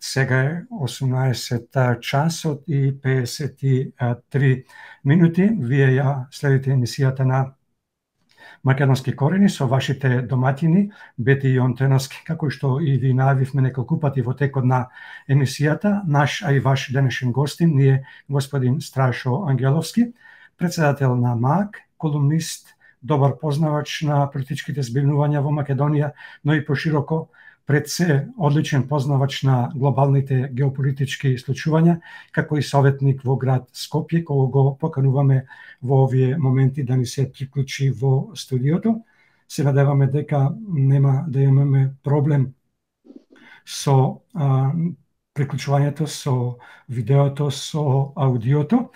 Сега е 18 часот и 53 минути. Вие ја следите емисијата на Македонски корени со вашите доматини, Бети и Онтеновски, како што и ви најавивме неколку пати во текот на емисијата. Наш, а и ваш денешен гостин ни е господин Страшо Ангеловски, председател на МАК, колумнист, добар познавач на политичките збивнувања во Македонија, но и пошироко пред се одличен познавач на глобалните геополитички случувања, како и советник во град Скопје, кога го покануваме во овие моменти да ни се приклучи во студиото. Се надеваме дека нема да имаме проблем со приклучувањето, со видеото, со аудиото.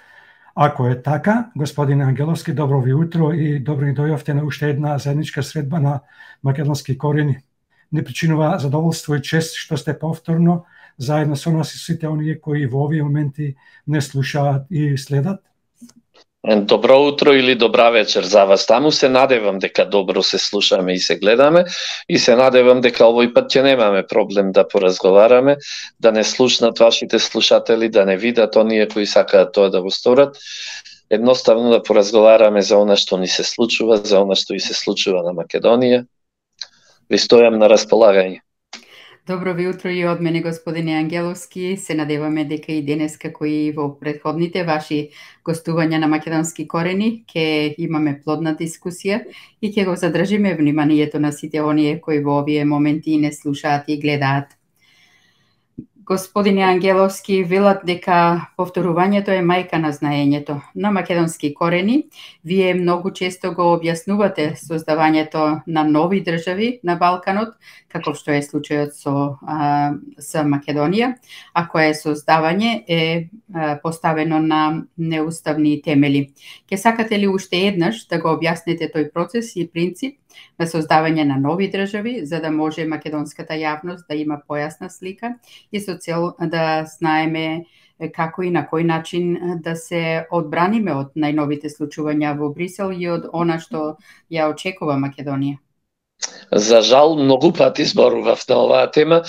Ако е така, господин Ангеловски, добро ви утро и добро ни дојавте на уште една заедничка средба на Македонски корени. Не причинува задоволство и чест што сте повторно заедно со нас и сите оние кои во овие моменти не слушаат и следат. Добро утро или добра вечер за вас. Таму се надевам дека добро се слушаме и се гледаме и се надевам дека овој пат ќе немаме проблем да поразговараме, да не слушнат вашите слушатели, да не видат оние кои сакаат тоа да го сторат. Едноставно да поразговараме за она што ни се случува, за она што и се случува на Македонија. Ви стојам на располагање. Добро ви утро и од мене, господине Ангеловски. Се надеваме дека и денес, како и во претходните ваши гостувања на Македонски корени, ќе имаме плодна дискусија и ќе го задржиме вниманието на сите оние кои во овие моменти не слушаат и гледаат. Господине Ангеловски, велат дека повторувањето е мајка на знаењето. На Македонски корени, вие многу често го објаснувате создавањето на нови држави на Балканот, каков што е случајот со Македонија, а кое создавање е поставено на неуставни темели. Ке сакате ли уште еднаш да го објасните тој процес и принцип на создавање на нови држави, за да може македонската јавност да има појасна слика и со цел да знаеме како и на кој начин да се одбраниме од најновите случувања во Брисел и од она што ја очекува Македонија? За жал, многу пати зборував на оваа тема,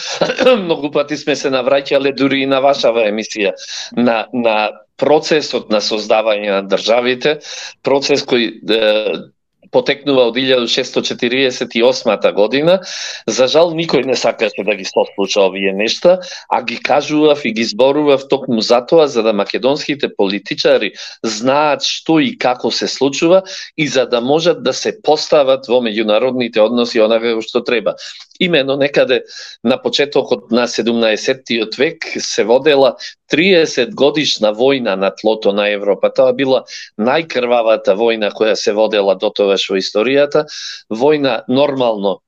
многу пати сме се навраќале дури и на вашава емисија, на процесот на создавање на државите, процес кој потекнува од 1648 година. За жал, никој не сакаше да ги сослуша овие нешта, а ги кажував и ги зборував токму затоа, за да македонските политичари знаат што и како се случува и за да можат да се постават во меѓународните односи онака што треба. Имено некаде на почетокот на 17-тиот век се водела 30 годишна војна на тлото на Европа. Тоа била најкрвавата војна која се водела до тогаш во историјата. Војна нормално,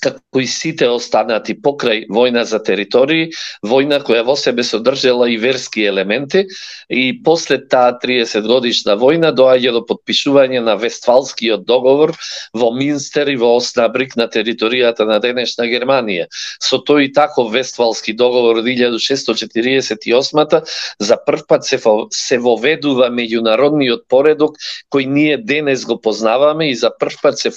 како и сите останати покрај војна за територии, војна која во себе содржала и верски елементи, и после таа 30 годишна војна доаѓа до подпишување на Вестфалскиот договор во Минстер и во Оснабрик на територијата на денешна Германија. Со тој таков Вестфалски договор од 1648 за прв пат се воведува меѓународниот поредок кој ние денес го познаваме и за прв пат се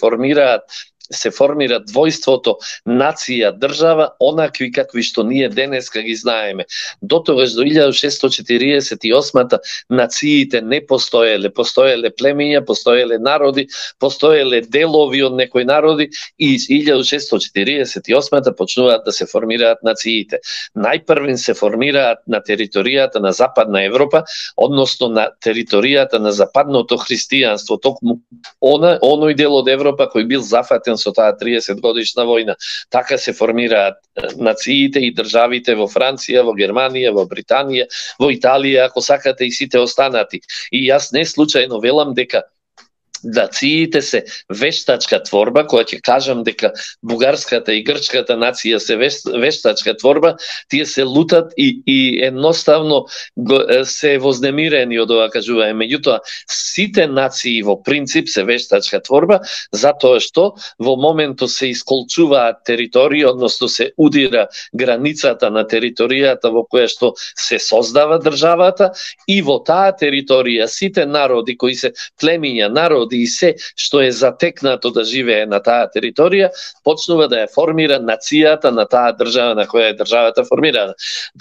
формира двојството нација, држава, онакви какви што ние денеска ги знаеме. До тогаш, до 1648 нациите не постоеле, постоеле племиња, постоеле народи, постоеле делови од некои народи и 1648 почнуваат да се формираат нациите. Најпрвен се формираат на територијата на Западна Европа, односно на територијата на западното христијанство, токму оној дел од Европа кој бил зафатен со таа 30 годишна војна. Така се формираат нациите и државите во Франција, во Германија, во Британија, во Италија, ако сакате и сите останати. И јас не случајно велам дека нациите се вештачка творба, која ќе кажам дека бугарската и грчката нација се вештачка творба, тие се лутат и едноставно се вознемирени од ова кажување. Меѓутоа, сите нации во принцип се вештачка творба, затоа што во моментот се исколчуваат територии, односно се удира границата на територијата во која што се создава државата и во таа територија сите народи кои се племиња, народи народи и се што е затекнато да живее на таа територија, почнува да ја формира нацијата на таа држава на која е државата формирана.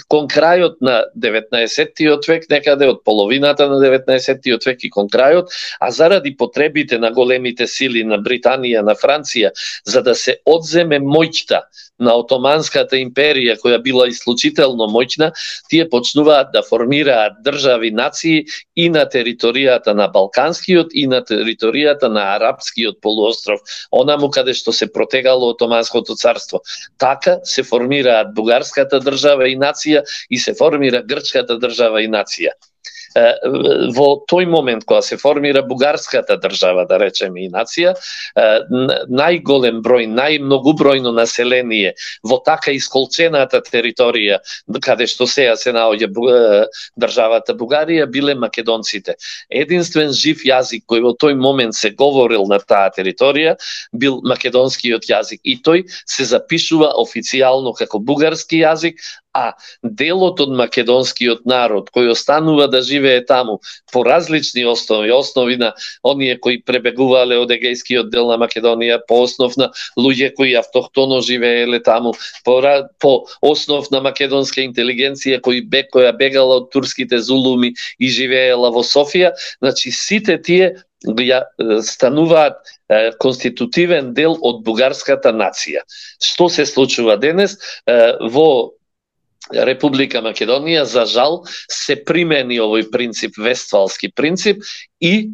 Кон крајот на 19-тиот век, некаде од половината на 19-тиот век и кон крајот, а заради потребите на големите сили на Британија, на Франција, за да се одземе моќта на Отоманската империја, која била исклучително моќна, тие почнуваат да формираат држави, нации и на територијата на Балканскиот и на територијата на Арапскиот полуостров, онаму каде што се протегало Отоманското царство. Така се формираат Бугарската држава и нација и се формира Грчката држава и нација. Во тој момент кога се формира Бугарската држава, да речеме и нација, најголем број, најмногубројно население во така исколчената територија каде што сега се наоѓа државата Бугарија биле македонците. Единствен жив јазик кој во тој момент се говорил на таа територија бил македонскиот јазик и тој се запишува официјално како бугарски јазик, а делот од македонскиот народ кој останува да живее таму по различни основи на оние кои пребегувале од егејскиот дел на Македонија, по основ на луѓе кои автохтоно живееле таму, по основ на македонска интелигенција која бегала од турските зулуми и живеела во Софија, значи сите тие стануваат конститутивен дел од бугарската нација. Што се случува денес во Република Македонија? За жал се примени овој принцип, вестфалски принцип, и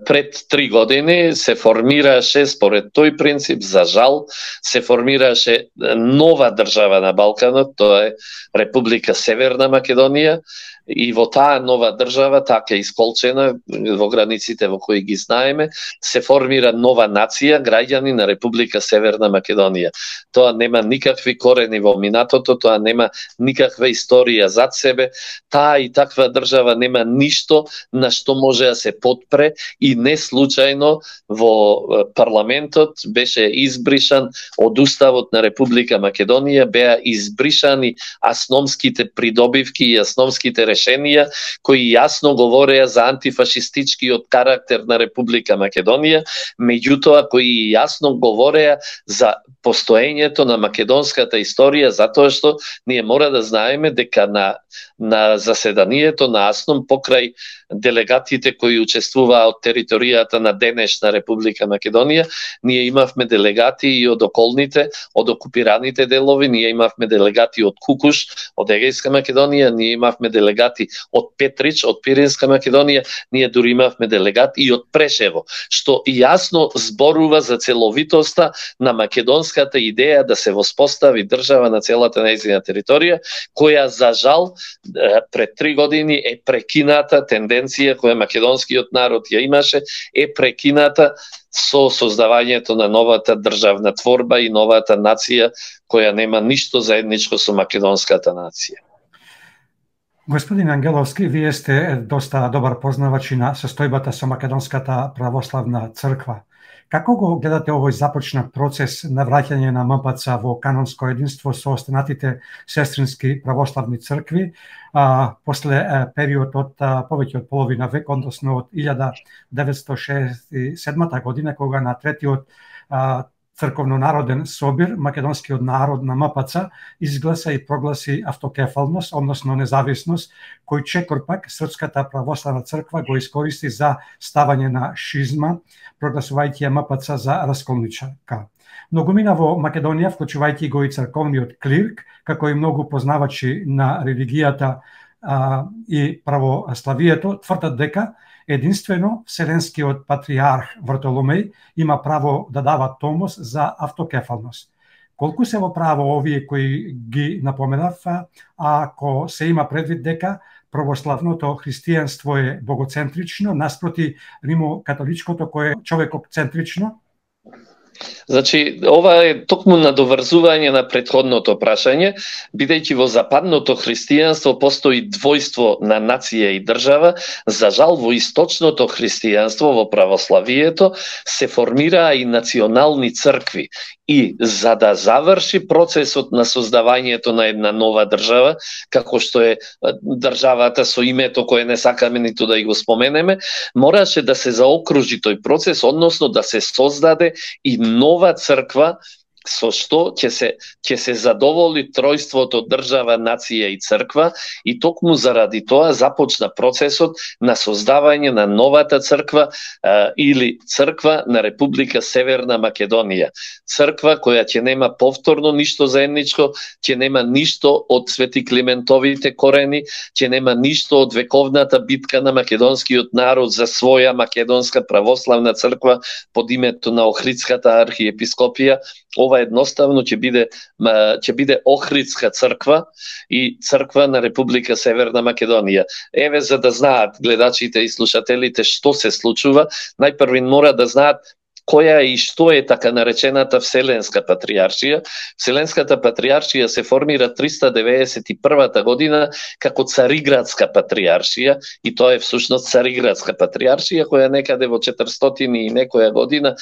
пред 3 години се формираше според тој принцип, за жал се формираше нова држава на Балканот, тоа е Република Северна Македонија, и во таа нова држава, така исколчена во границите во кои ги знаеме, се формира нова нација, граѓани на Република Северна Македонија. Тоа нема никакви корени во минатото, тоа нема никаква историја зад себе, таа и таква држава нема ништо на што може да се потпре и не случајно во парламентот беше избришан од Уставот на Република Македонија, беа избришани асномските придобивки и асномските решенија кои јасно говореа за антифашистичкиот карактер на Република Македонија, меѓутоа кои јасно говореа за постоењето на македонската историја, затоа што ние мора да знаеме дека на заседанието на АСНОМ покрај делегатите кои учествуваа од територијата на денешна Република Македонија, ние имавме делегати и од околните, од окупираните делови, ние имавме делегати од Кукуш, од Егејска Македонија, ние имавме делегати од Петрич, од Пиринска Македонија, ние дури имавме делегати и од Прешево, што јасно зборува за целовитоста на македонската идеја да се воспостави држава на целата нејзина територија, која за жал пред 3 години е прекината тенденција која македонскиот народ ја имаше, е прекината со создавањето на новата државна творба и новата нација која нема ништо заедничко со македонската нација. Господин Ангеловски, вие сте доста добар познавач на состојбата со Македонската православна црква. Како го гледате овој започнат процес на враќање на МПЦ во канонско единство со останатите сестрински православни цркви после период од повеќе од половина век, односно од 1967 година, кога на третиот црковно-народен собир македонскиот народ на МПЦ изгласа и прогласи автокефалност, односно независност, кој чекор пак Српската православна црква го искористи за ставање на шизма, прогласувајќи МПЦ за расколничарка. Многумина во Македонија, вклучувајќи го и црковниот клирк, како и многу познавачи на религијата и православието, тврдат дека единствено Вселенскиот патриарх Вартоломеј има право да дава томос за автокефалност. Колку се во право овие кои ги напоменав, ако се има предвид дека православното христијанство е богоцентрично, наспроти римокатоличкото кое е човекоцентрично? Значи, ова е токму надоврзување на претходното прашање, бидејќи во западното христијанство постои двојство на нација и држава, за жал во источното христијанство, во православието, се формираа и национални цркви. И за да заврши процесот на создавањето на една нова држава, како што е државата со името кое не сакаме ниту да и го споменеме, мораше да се заокружи тој процес, односно да се создаде и нова црква со што ќе се задоволи тројството држава, нација и црква, и токму заради тоа започна процесот на создавање на новата црква или црква на Република Северна Македонија. Црква која ќе нема повторно ништо заедничко, ќе нема ништо од Свети Климентовите корени, ќе нема ништо од вековната битка на македонскиот народ за своја македонска православна црква под името на Охридската архиепископија. Ова едноставно ќе биде Охридска црква и црква на Република Северна Македонија. Еве, за да знаат гледачите и слушателите што се случува, најпрви мора да знаат која и што е така наречената Вселенска патриаршија. Вселенската патриаршија се формира 391 година како Цариградска патриаршија, и тоа е всушност Цариградска патриаршија, која некаде во 400 и некоја година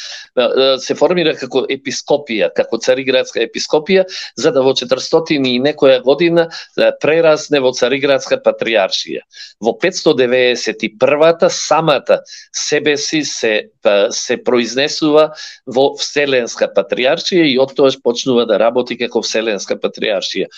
се формира како епископија, како Цариградска епископија, за да во 400 и некоја година прерасне во Цариградска патриаршија. Во 591 самата себе си се произнесува во Вселенска патриаршија и оттоаш почнува да работи како Вселенска патриаршија.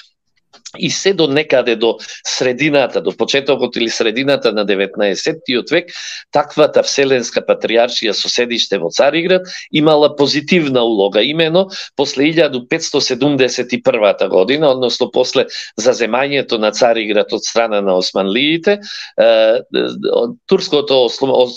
И се до некаде до средината, до почетокот или средината на 19-тиот век, таквата Вселенска патриаршија со седиште во Цариград имала позитивна улога, имено после 1571 година, односно после заземањето на Цариград од страна на османлиите, турското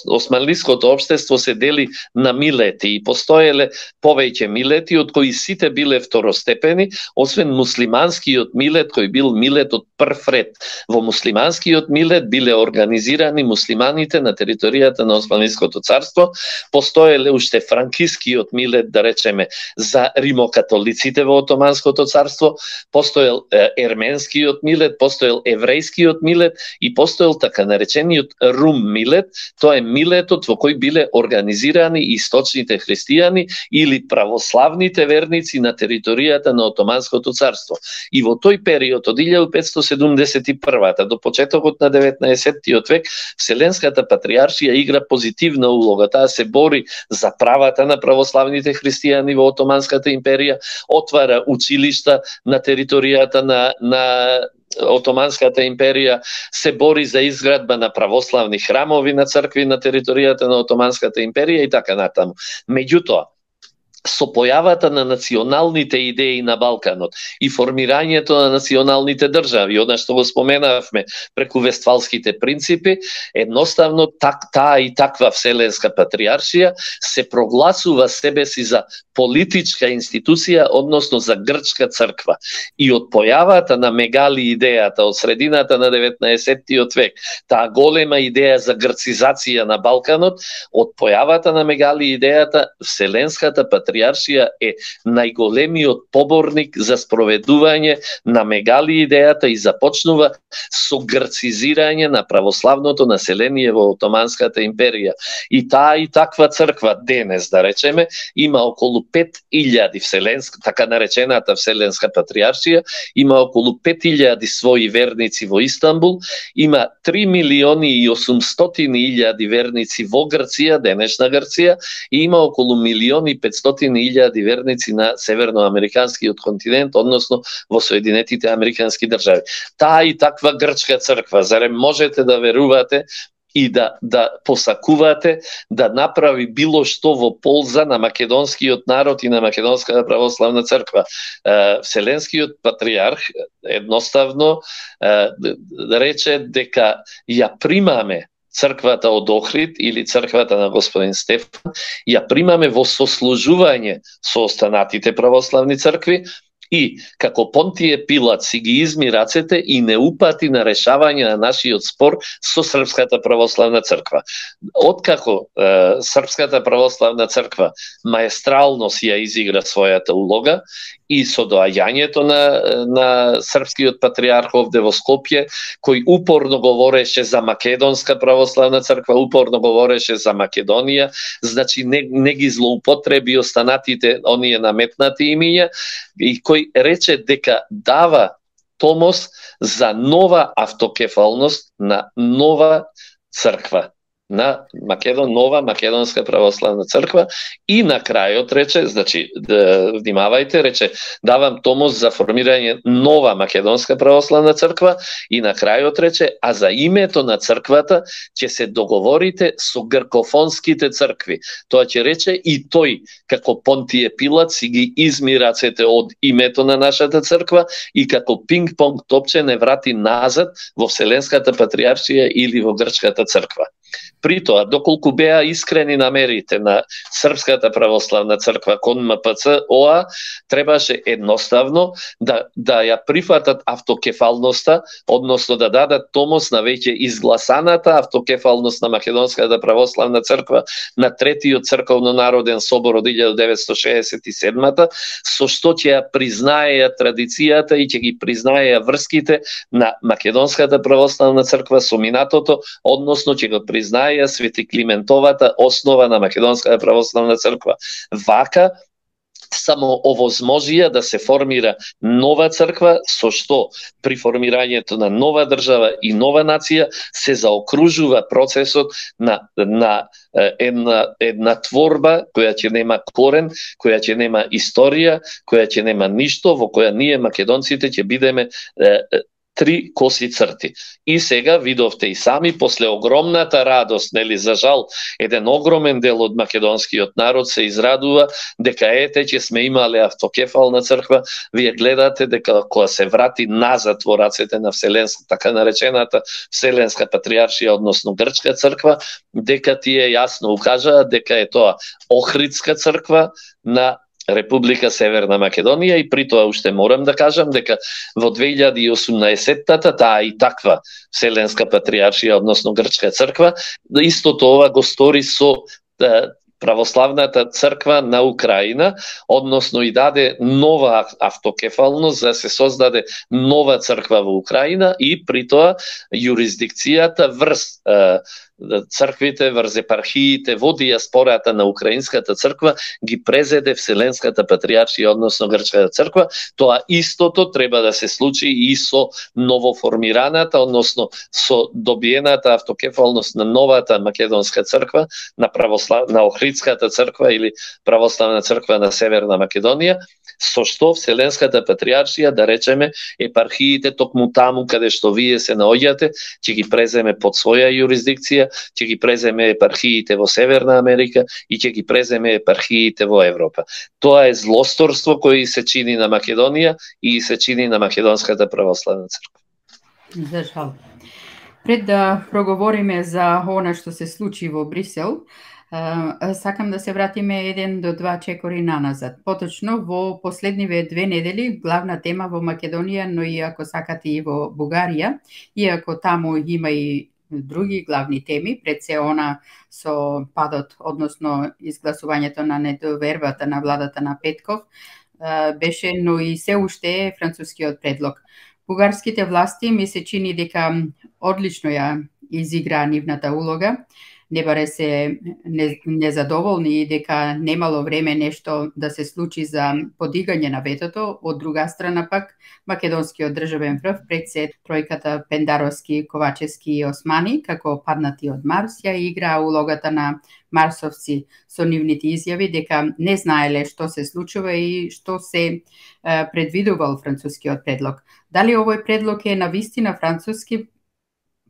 османлиското општество се дели на милети и постоеле повеќе милети, од кои сите биле второстепени, освен муслиманскиот милет, кој бил милет од прв ред. Во муслиманскиот милет биле организирани муслиманите на територијата на Османлиското царство, постоеле уште франкискиот милет, да речеме, за римокатолиците во Отоманското царство, постоел ерменскиот милет, постоел еврејскиот милет и постоел така наречениот Рум милет, тоа е милетот во кој биле организирани источните христијани или православните верници на територијата на Отоманското царство. И во тој период од 1571 до почетокот на 19-тиот век, Вселенската патриаршија игра позитивна улога. Таа се бори за правата на православните христијани во Отоманската империја, отвара училишта на територијата на Отоманската империја, се бори за изградба на православни храмови на цркви на територијата на Отоманската империја и така натаму. Меѓутоа, со појавата на националните идеи на Балканот и формирањето на националните држави, она што го споменавме преку Вестфалските принципи, едноставно таа и таква Вселенска патриаршија се прогласува себе си за политичка институција, односно за грчка црква. И од појавата на Мегали идејата од средината на 19-тиот век, таа голема идеја за грцизација на Балканот, од појавата на Мегали идејата, Вселенската патриаршија е најголемиот поборник за спроведување на Мегали идејата и започнува со грцизирање на православното население во Отоманската империја. И таа и таква црква денес, да речеме, има околу 5000 вселенска, така наречената Вселенска патриаршија, има околу 5000 своји верници во Истанбул, има 3.800.000 верници во Грција, денешна Грција, и има околу 1.500.000 верници на северноамериканскиот континент, односно во Соединетите Американски држави. Таа и таква грчка црква, зарем можете да верувате и да посакувате да направи било што во полза на македонскиот народ и на Македонската православна црква? Вселенскиот патриарх едноставно рече дека ја примаме црквата од Охрид или црквата на господин Стефан, ја примаме во сослужување со останатите православни цркви И како Понтие Пилат си ги изми рацете и не упати на решавање на нашиот спор со Српската православна црква. Откако Српската православна црква маестрално си ја изигра својата улога и со доаѓањето на српскиот патриарх овде во Скопје, кој упорно говореше за Македонска православна црква, упорно говореше за Македонија, значи не ги злоупотреби останатите оние наметнати имиња, и кој рече дека дава томос за нова автокефалност на нова црква, на нова Македонска православна црква, и на крајот рече, значи внимавајте, рече давам томос за формирање нова Македонска православна црква, и на крајот рече, а за името на црквата ќе се договорите со гркофонските цркви. Тоа ќе рече и тој, како Понтие Пилат, си ги изми рацете од името на нашата црква и како пинг-понг топче не врати назад во Вселенската патриаршија или во грчката црква. При тоа, доколку беа искрени намерите на Српската православна црква кон МПЦ ОА, требаше едноставно да ја прифатат автокефалноста, односно да дадат томос на веќе изгласаната автокефалност на Македонската православна црква на Третиот црковно-народен собор од 1967-та, со што ќе ја признаеја традицијата и ќе ги признаеја врските на Македонската православна црква со минатото, односно ќе го признаеја Свети Климентовата основа на Македонската православна црква. Вака само овозможија да се формира нова црква, со што при формирањето на нова држава и нова нација се заокружува процесот на една творба која ќе нема корен, која ќе нема историја, која ќе нема ништо, во која ние македонците ќе бидеме три коси црти. И сега видовте и сами, после огромната радост, нели, за жал, еден огромен дел од македонскиот народ се израдува дека ете ќе сме имале автокефална црква. Вие гледате дека кога се врати назад во рацете на Вселенска, така наречената Вселенска патриаршија, односно грчка црква, дека тие јасно укажаа дека е тоа Охридска црква на Република Северна Македонија, и при тоа уште морам да кажам дека во 2018-та таа и таква Вселенска патриаршија, односно грчка црква, истото ова го стори со православната црква на Украина, односно и даде нова автокефалност за да се создаде нова црква во Украина, и при тоа јурисдикцијата врз црквите, врз епархиите во диаспората на украинската црква ги презеде Вселенската патриаршија, односно грчката црква. Тоа истото треба да се случи и со новоформираната, односно со добиената автокефалност на новата македонска црква, на Охридската црква или православна црква на Северна Македонија, со што Вселенската патриаршија, да речеме, епархиите токму таму каде што вие се наоѓате, ќе ги преземе под своја јурисдикција, ќе ги преземе епархиите во Северна Америка и ќе ги преземе епархиите во Европа. Тоа е злосторство кој се чини на Македонија и се чини на Македонската православна црква. За жал. Пред да проговориме за она што се случи во Брисел, сакам да се вратиме 1 до 2 чекори наназад. Поточно, во последниве 2 недели, главна тема во Македонија, но и ако сакате и во Бугарија, иако таму има и други главни теми, пред се она со падот, односно изгласувањето на недовербата на владата на Петков, беше, но и се уште е францускиот предлог. Бугарските власти ми се чини дека одлично ја изиграа нивната улога, не баре се незадоволни и дека немало време нешто да се случи за подигање на ветото. Од друга страна пак, македонскиот државен врв, пред се тројката Пендаровски, Ковачевски и Османи, како паднати од Марс, ја играа улогата на марсовци со нивните изјави дека не знаеле што се случува и што се предвидувал францускиот предлог. Дали овој предлог е навистина француски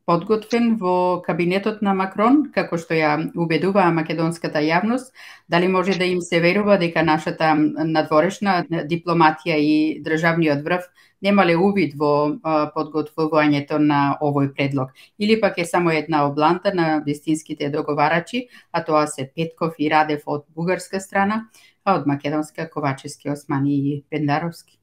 подготвен во кабинетот на Макрон, како што ја убедуваа македонската јавност, дали може да им се верува дека нашата надворешна дипломатија и државниот врв немале увид во подготвувањето на овој предлог, или пак е само една обланта на вистинските договарачи, а тоа се Петков и Радев од бугарска страна, а од македонска Ковачевски, Османи и Пендаровски.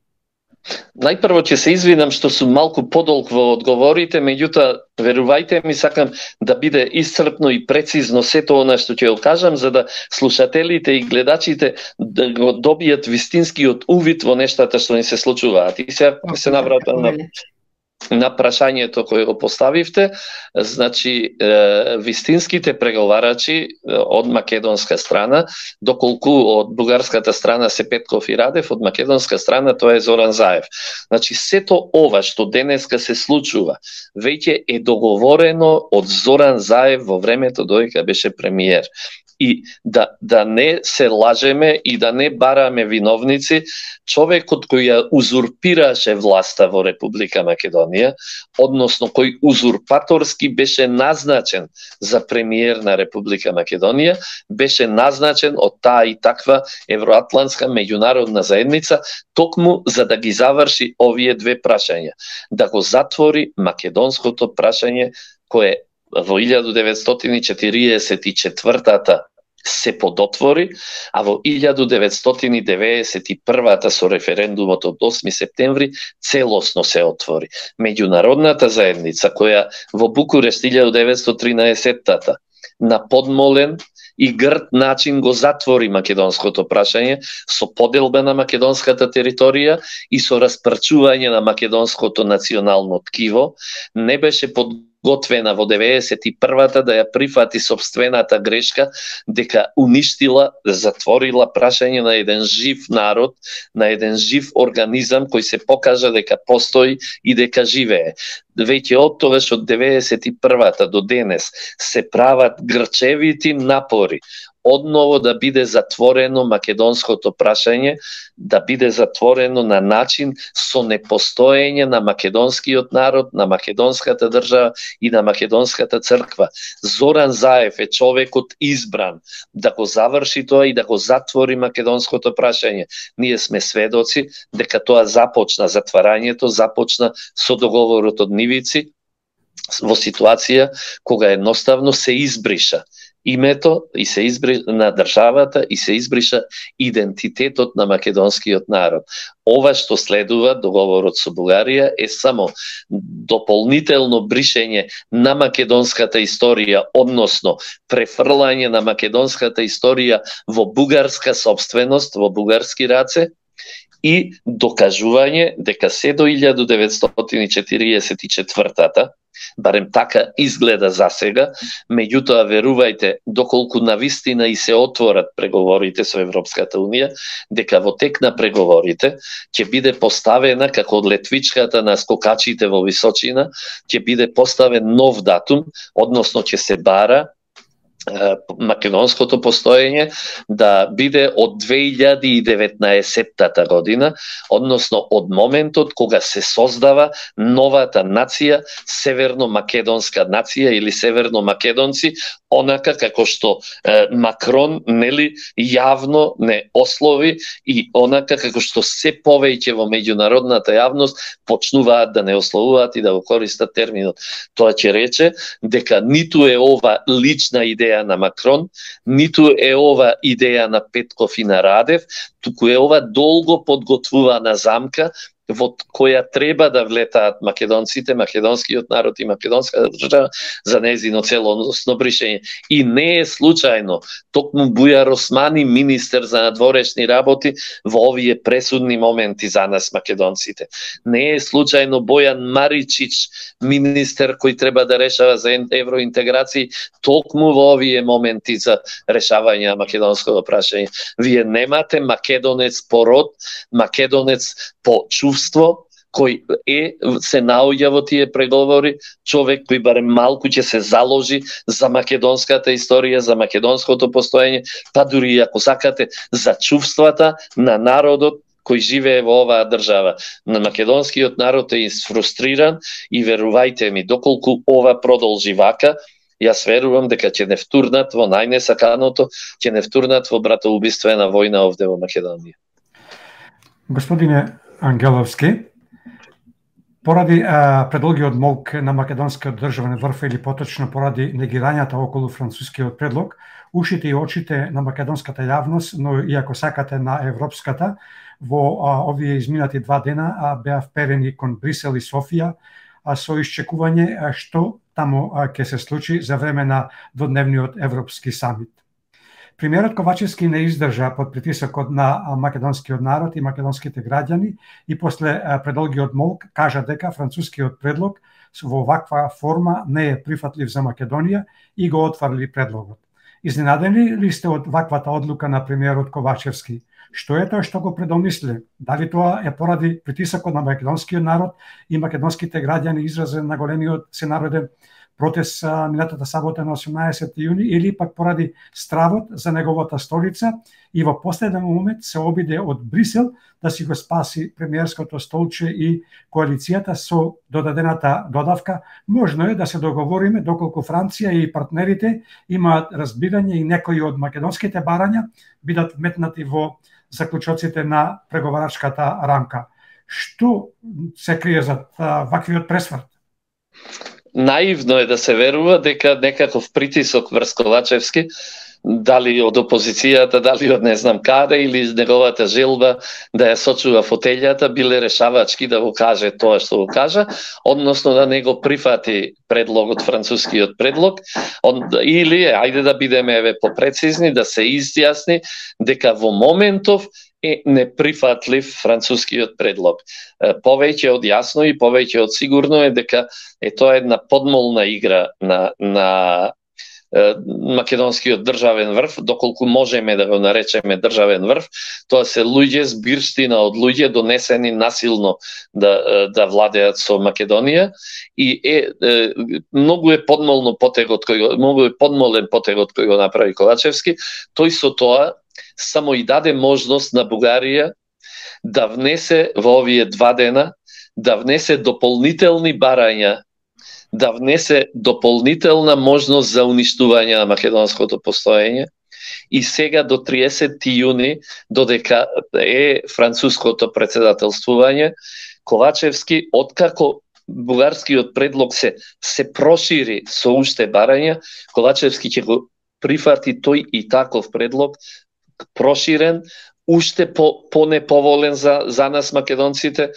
Најпрво ќе се извинам што сум малку подолг во одговорите, меѓутоа верувајте ми, сакам да биде исцрпно и прецизно сето она што ќе го кажам, за да слушателите и гледачите да го добијат вистинскиот увид во нештата што ни се случуваат. И се навратам на прашањето кое го поставивте. Значи, вистинските преговарачи од македонска страна, доколку од бугарската страна се Петков и Радев, од македонска страна тоа е Зоран Заев. Значи, сето ова што денеска се случува, веќе е договорено од Зоран Заев во времето додека беше премиер. И да не се лажеме и да не бараме виновници, човекот кој ја узурпираше власта во Република Македонија, односно кој узурпаторски беше назначен за премиер на Република Македонија, беше назначен од таа и таква евроатлантска меѓународна заедница, токму за да ги заврши овие две прашања. Да го затвори македонското прашање кое во 1944 се подотвори, а во 1991 со референдумот од 8 септември целосно се отвори. Меѓународната заедница која во Букурешт 1913 на подмолен и грд начин го затвори македонското прашање со поделба на македонската територија и со распрчување на македонското национално ткиво, не беше подготвена во 91-та да ја прифати собствената грешка дека уништила, затворила прашање на еден жив народ, на еден жив организам кој се покажа дека постои и дека живее. Веќе од тогаш од 91-та до денес се прават грчевити напори одново да биде затворено македонското прашање, да биде затворено на начин со непостоење на македонскиот народ, на македонската држава и на македонската црква. Зоран Заев е човекот избран да го заврши тоа и да го затвори македонското прашање. Ние сме сведоци дека тоа започна, затварањето започна со договорот од Нивици во ситуација кога едноставно се избриша името и се избриша на државата и се избриша идентитетот на македонскиот народ. Ова што следува, договорот со Бугарија, е само дополнително бришење на македонската историја, односно префрлање на македонската историја во бугарска собственост, во бугарски раце, и докажување дека се до 1944-та, барем така изгледа за сега, меѓутоа верувајте, доколку навистина и се отворат преговорите со Европската Унија, дека во тек на преговорите ќе биде поставена, како од летвичката на скокачите во височина, ќе биде поставен нов датум, односно ќе се бара македонското постоење да биде од 2019 година, односно од моментот кога се создава новата нација, северно-македонска нација или северно-македонци, онака како што Макрон нели јавно не ослови и онака како што се повеќе во меѓународната јавност почнуваат да не ословуваат и да го користат терминот. Тоа ќе рече дека ниту е ова лична идеја на Макрон, ниту е ова идеја на Петков и на Радев, туку е ова долго подготвувана замка во која треба да влетаат македонците, македонскиот народ и македонската држава за нејзино целосно бришење. И не е случајно, токму Бујар Османи, министер за надворешни работи, во овие пресудни моменти за нас македонците. Не е случајно Бојан Маричич, министер кој треба да решава за евроинтеграција, токму во овие моменти за решавање на македонското прашање. Вие немате македонец по род, македонец по чувство, кој се наоѓа во тие преговори, човек кој барем малку ќе се заложи за македонската историја, за македонското постоење, па дури ако сакате за чувствата на народот кој живее во оваа држава. На македонскиот народ е фрустриран и верувајте ми, доколку ова продолжи вака, јас верувам дека ќе не втурнат во најнесаканото, ќе не втурнат во братоубиствена војна овде во Македонија. Господине Ангеловски, поради предолгиот молк на македонскиот државен врв или поточно поради негирањата околу францускиот предлог, ушите и очите на македонската јавност, но и ако сакате на европската, во овие изминати 2 дена беа вперени кон Брисел и Софија со исчекување што таму ќе се случи за време на дводневниот Европски самит. Премиерот Ковачевски не издржа под притисокот на македонскиот народ и македонските граѓани и после предолгиот молк кажа дека францускиот предлог во ваква форма не е прифатлив за Македонија и го отварли предлогот. Изненадени ли сте од ваквата одлука на премиерот Ковачевски? Што е тоа што го предомисли? Дали тоа е поради притисокот на македонскиот народ и македонските граѓани изразен на големиот сенароден протест минатата сабота на 18 јуни или пак поради стравот за неговата столица и во последен момент се обиде од Брисел да си го спаси премиерското столче и коалицијата со додадената додавка? Можно е да се договориме доколку Франција и партнерите имаат разбирање и некои од македонските барања бидат вметнати во заклучоците на преговарачката рамка. Што се крие за ваквиот пресврт? Наивно е да се верува дека некаков притисок врз Ковачевски, дали од опозицијата, дали од не знам каде, или неговата желба да ја сочува фотелјата, биле решавачки да го каже тоа што го кажа, односно да не го прифати предлогот, францускиот предлог, или, ајде да бидеме попрецизни, да се изјасни дека во моментов е неприфатлив францускиот предлог. Повеќе од јасно и повеќе од сигурно е дека тоа една подмолна игра на македонскиот државен врв, доколку можеме да го наречеме државен врв, тоа се луѓе, збирштина од луѓе донесени насилно да владеат со Македонија и многу е подмолен потегот кој го направи Ковачевски. Тој со тоа само и даде можност на Бугарија да внесе во овие 2 дена, да внесе дополнителни барања, да внесе дополнителна можност за уништување на македонското постоење. И сега до 30 јуни, додека е француското председателствување, Ковачевски, откако бугарскиот предлог се прошири со уште барања, Ковачевски ќе го прифати тој и таков предлог, проширен, уште по-неповолен за нас македонците,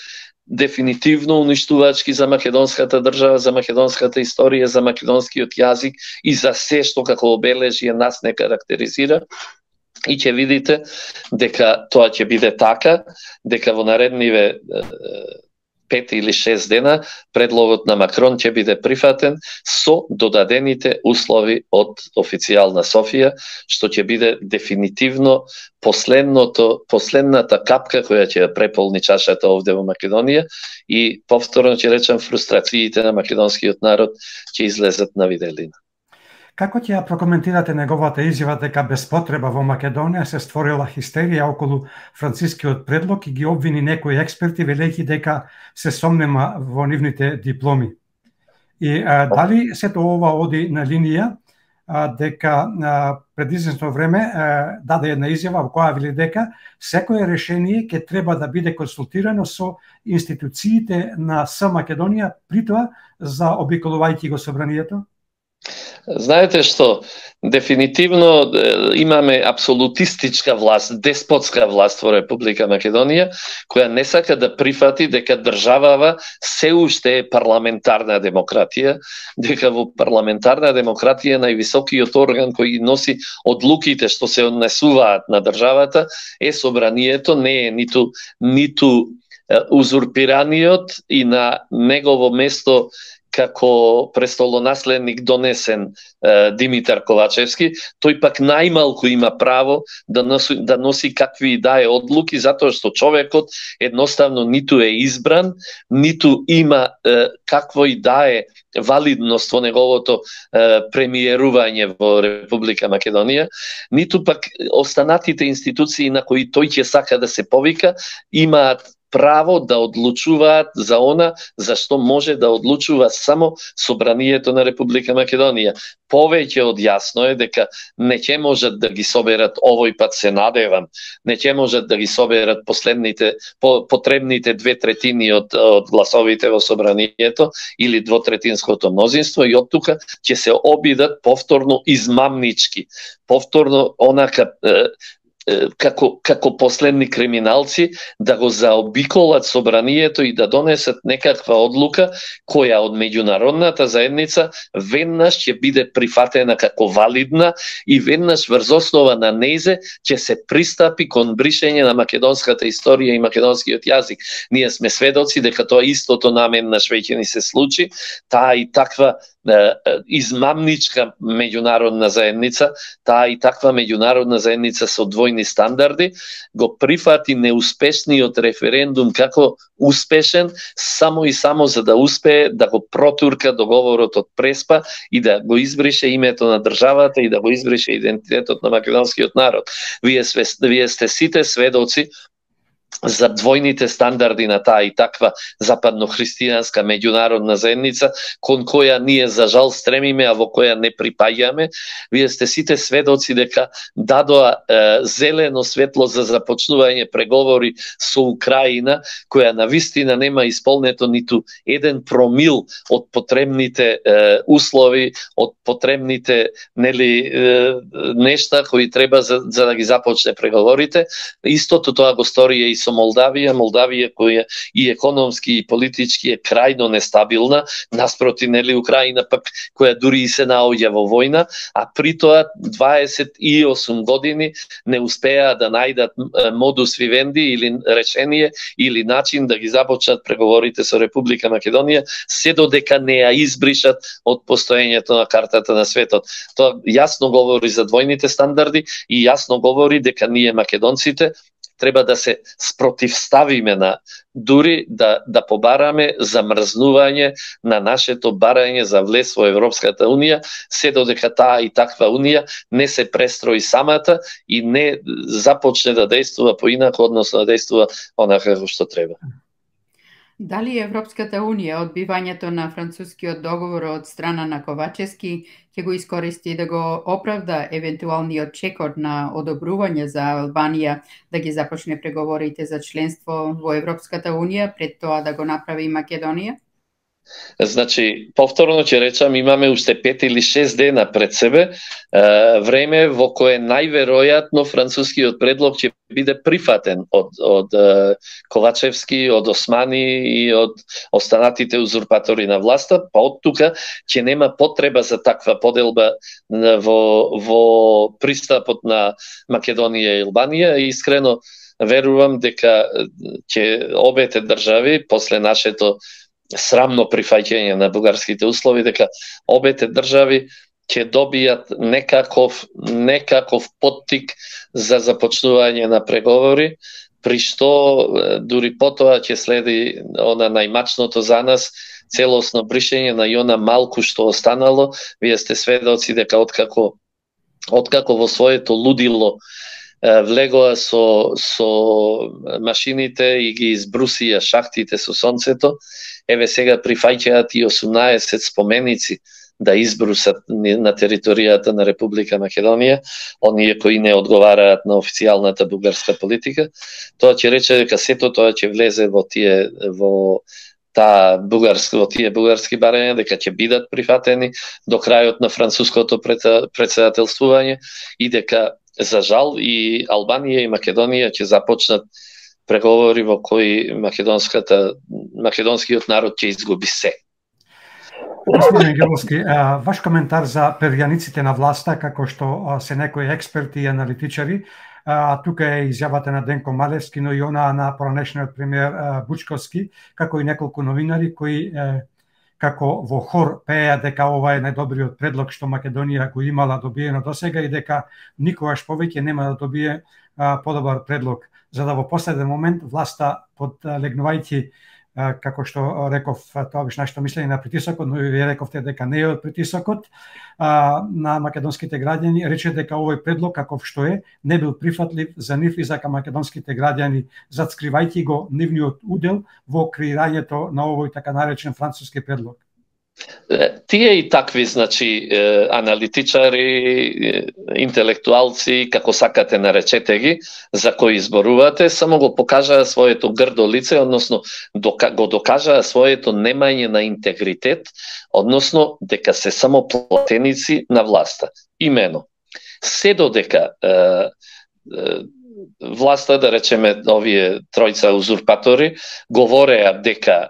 дефинитивно уништувачки за македонската држава, за македонската историја, за македонскиот јазик и за се што како обележие нас не карактеризира. И ќе видите дека тоа ќе биде така, дека во наредниве 5 или 6 дена предлогот на Макрон ќе биде прифатен со додадените услови од официјална Софија, што ќе биде дефинитивно последната капка која ќе ја преполни чашата овде во Македонија и повторно ќе речам фрустрациите на македонскиот народ ќе излезат на виделина. Како ќе ја прокоментирате неговата изјава дека без потреба во Македонија се створила хистерија околу францускиот предлог и ги обвини некои експерти велејќи дека се сомнема во нивните дипломи? И дали сето ова оди на линија дека пред известно време даде една изјава во која вели дека секое решение ќе треба да биде консултирано со институциите на Македонија, притоа заобиколувајќи го собранието? Знаете што, дефинитивно имаме апсолутистичка власт, деспотска власт во Република Македонија, која не сака да прифати дека државава се уште е парламентарна демократија, дека во парламентарна демократија највисокиот орган кој ги носи одлуките што се однесуваат на државата е собранието, не е ниту узурпираниот и на негово место како престолонаследник донесен Димитар Ковачевски, тој пак најмалку има право да носи какви и да е одлуки, затоа што човекот едноставно ниту е избран, ниту има какво и да е валидност во неговото премиерување во Република Македонија, ниту пак останатите институции на кои тој ќе сака да се повика, имаат право да одлучуваат за она за што може да одлучува само собранието на Република Македонија. Повеќе од јасно е дека не ќе можат да ги соберат, овој пат се надевам, не ќе можат да ги соберат потребните 2/3 од гласовите во собранието или 2/3 мнозинство и од тука ќе се обидат повторно измамнички, повторно онака како последни криминалци да го заобиколат собранието и да донесат некаква одлука која од меѓународната заедница веднаш ќе биде прифатена како валидна и веднаш врз основа на незе ќе се пристапи кон бришење на македонската историја и македонскиот јазик. Ние сме сведоци дека тоа истото намеднаш веќе ни се случи, таа и таква измамничка меѓународна заедница, таа и таква меѓународна заедница со двојни стандарди, го прифати неуспешниот референдум како успешен, само и само за да успее да го протурка договорот од Преспа и да го избрише името на државата и да го избрише идентитетот на македонскиот народ. Вие сте сите сведоци за двојните стандарди на таа и таква западно-христијанска меѓународна заедница, кон која ние за жал стремиме, а во која не припаѓаме. Вие сте сите сведоци дека дадоа зелено светло за започнување преговори со Украина, која навистина нема исполнето ниту 1 промил од потребните услови, од потребните нешта кои треба за да ги започне преговорите. Истото тоа го стори и со Молдавија која и економски и политички е крајно нестабилна, наспроти Украина пак која дури и се наоѓа во војна, а при тоа 28 години не успеа да најдат модус вивенди или решение или начин да ги започнат преговорите со Република Македонија, се додека не ја избришат од постоењето на картата на светот. Тоа јасно говори за двојните стандарди и јасно говори дека ние македонците треба да се спротивставиме на дури да побараме замрзнување на нашето барање за влез во Европската унија, се додека таа и таква унија не се престрои самата и не започне да действува поинако, односно да действува онака како што треба. Дали Европската унија одбивањето на францускиот договор од страна на Ковачевски ќе го искористи да го оправда евентуалниот чекор на одобрување за Албанија да ги започне преговорите за членство во Европската унија пред тоа да го направи Македонија? Значи, повторно ќе речам, имаме уште 5 или 6 дена пред себе, време во кое најверојатно францускиот предлог ќе биде прифатен од Ковачевски, од Османи и од останатите узурпатори на власта, па од тука ќе нема потреба за таква поделба во пристапот на Македонија и Албанија. Искрено верувам дека ќе обете држави после нашето срамно прифаќање на бугарските услови, дека обете држави ќе добијат некаков поттик за започнување на преговори, при што дури потоа ќе следи она најмачното за нас, целосно бришење на она малку што останало. Вие сте сведоци дека откако во своето лудило влегоа со машините и ги избрусија шахтите со сонцето, еве сега прифаќаат и 18 споменици да избрусат на територијата на Република Македонија, оние кои не одговараат на официјалната бугарска политика. Тоа ќе рече дека сето тоа ќе влезе во тие бугарски барања, дека ќе бидат прифатени до крајот на француското претседателствување и дека за жал и Албанија и Македонија ќе започнат преговори во кои македонскиот народ ќе изгуби се. Господин Геловски, ваш коментар за перјаниците на власта, како што се некои експерти и аналитичари, тука е изјавата на Денко Малевски, но и она на поранешниот премиер Бучковски, како и неколку новинари кои како во хор пееа дека ова е најдобриот предлог што Македонија го имала добиено досега и дека никогаш повеќе нема да добие подобар предлог. За да во последен момент власта подлегнувајќи, како што реков, тоа беше нашето мислење на притисокот, но и вие рековте дека не е од притисокот на македонските граѓани, рече дека овој предлог каков што е не бил прифатлив за нив и за македонските граѓани, затскривајќи го нивниот удел во креирањето на овој така наречен француски предлог. Тие и такви, значи, аналитичари, интелектуалци, како сакате наречете ги, за кои изборувате, само го покажаа своето грдо лице, односно го докажаа своето немање на интегритет, односно дека се само платеници на власта. Имено, се додека власта, да речеме, овие тројца узурпатори, говореа дека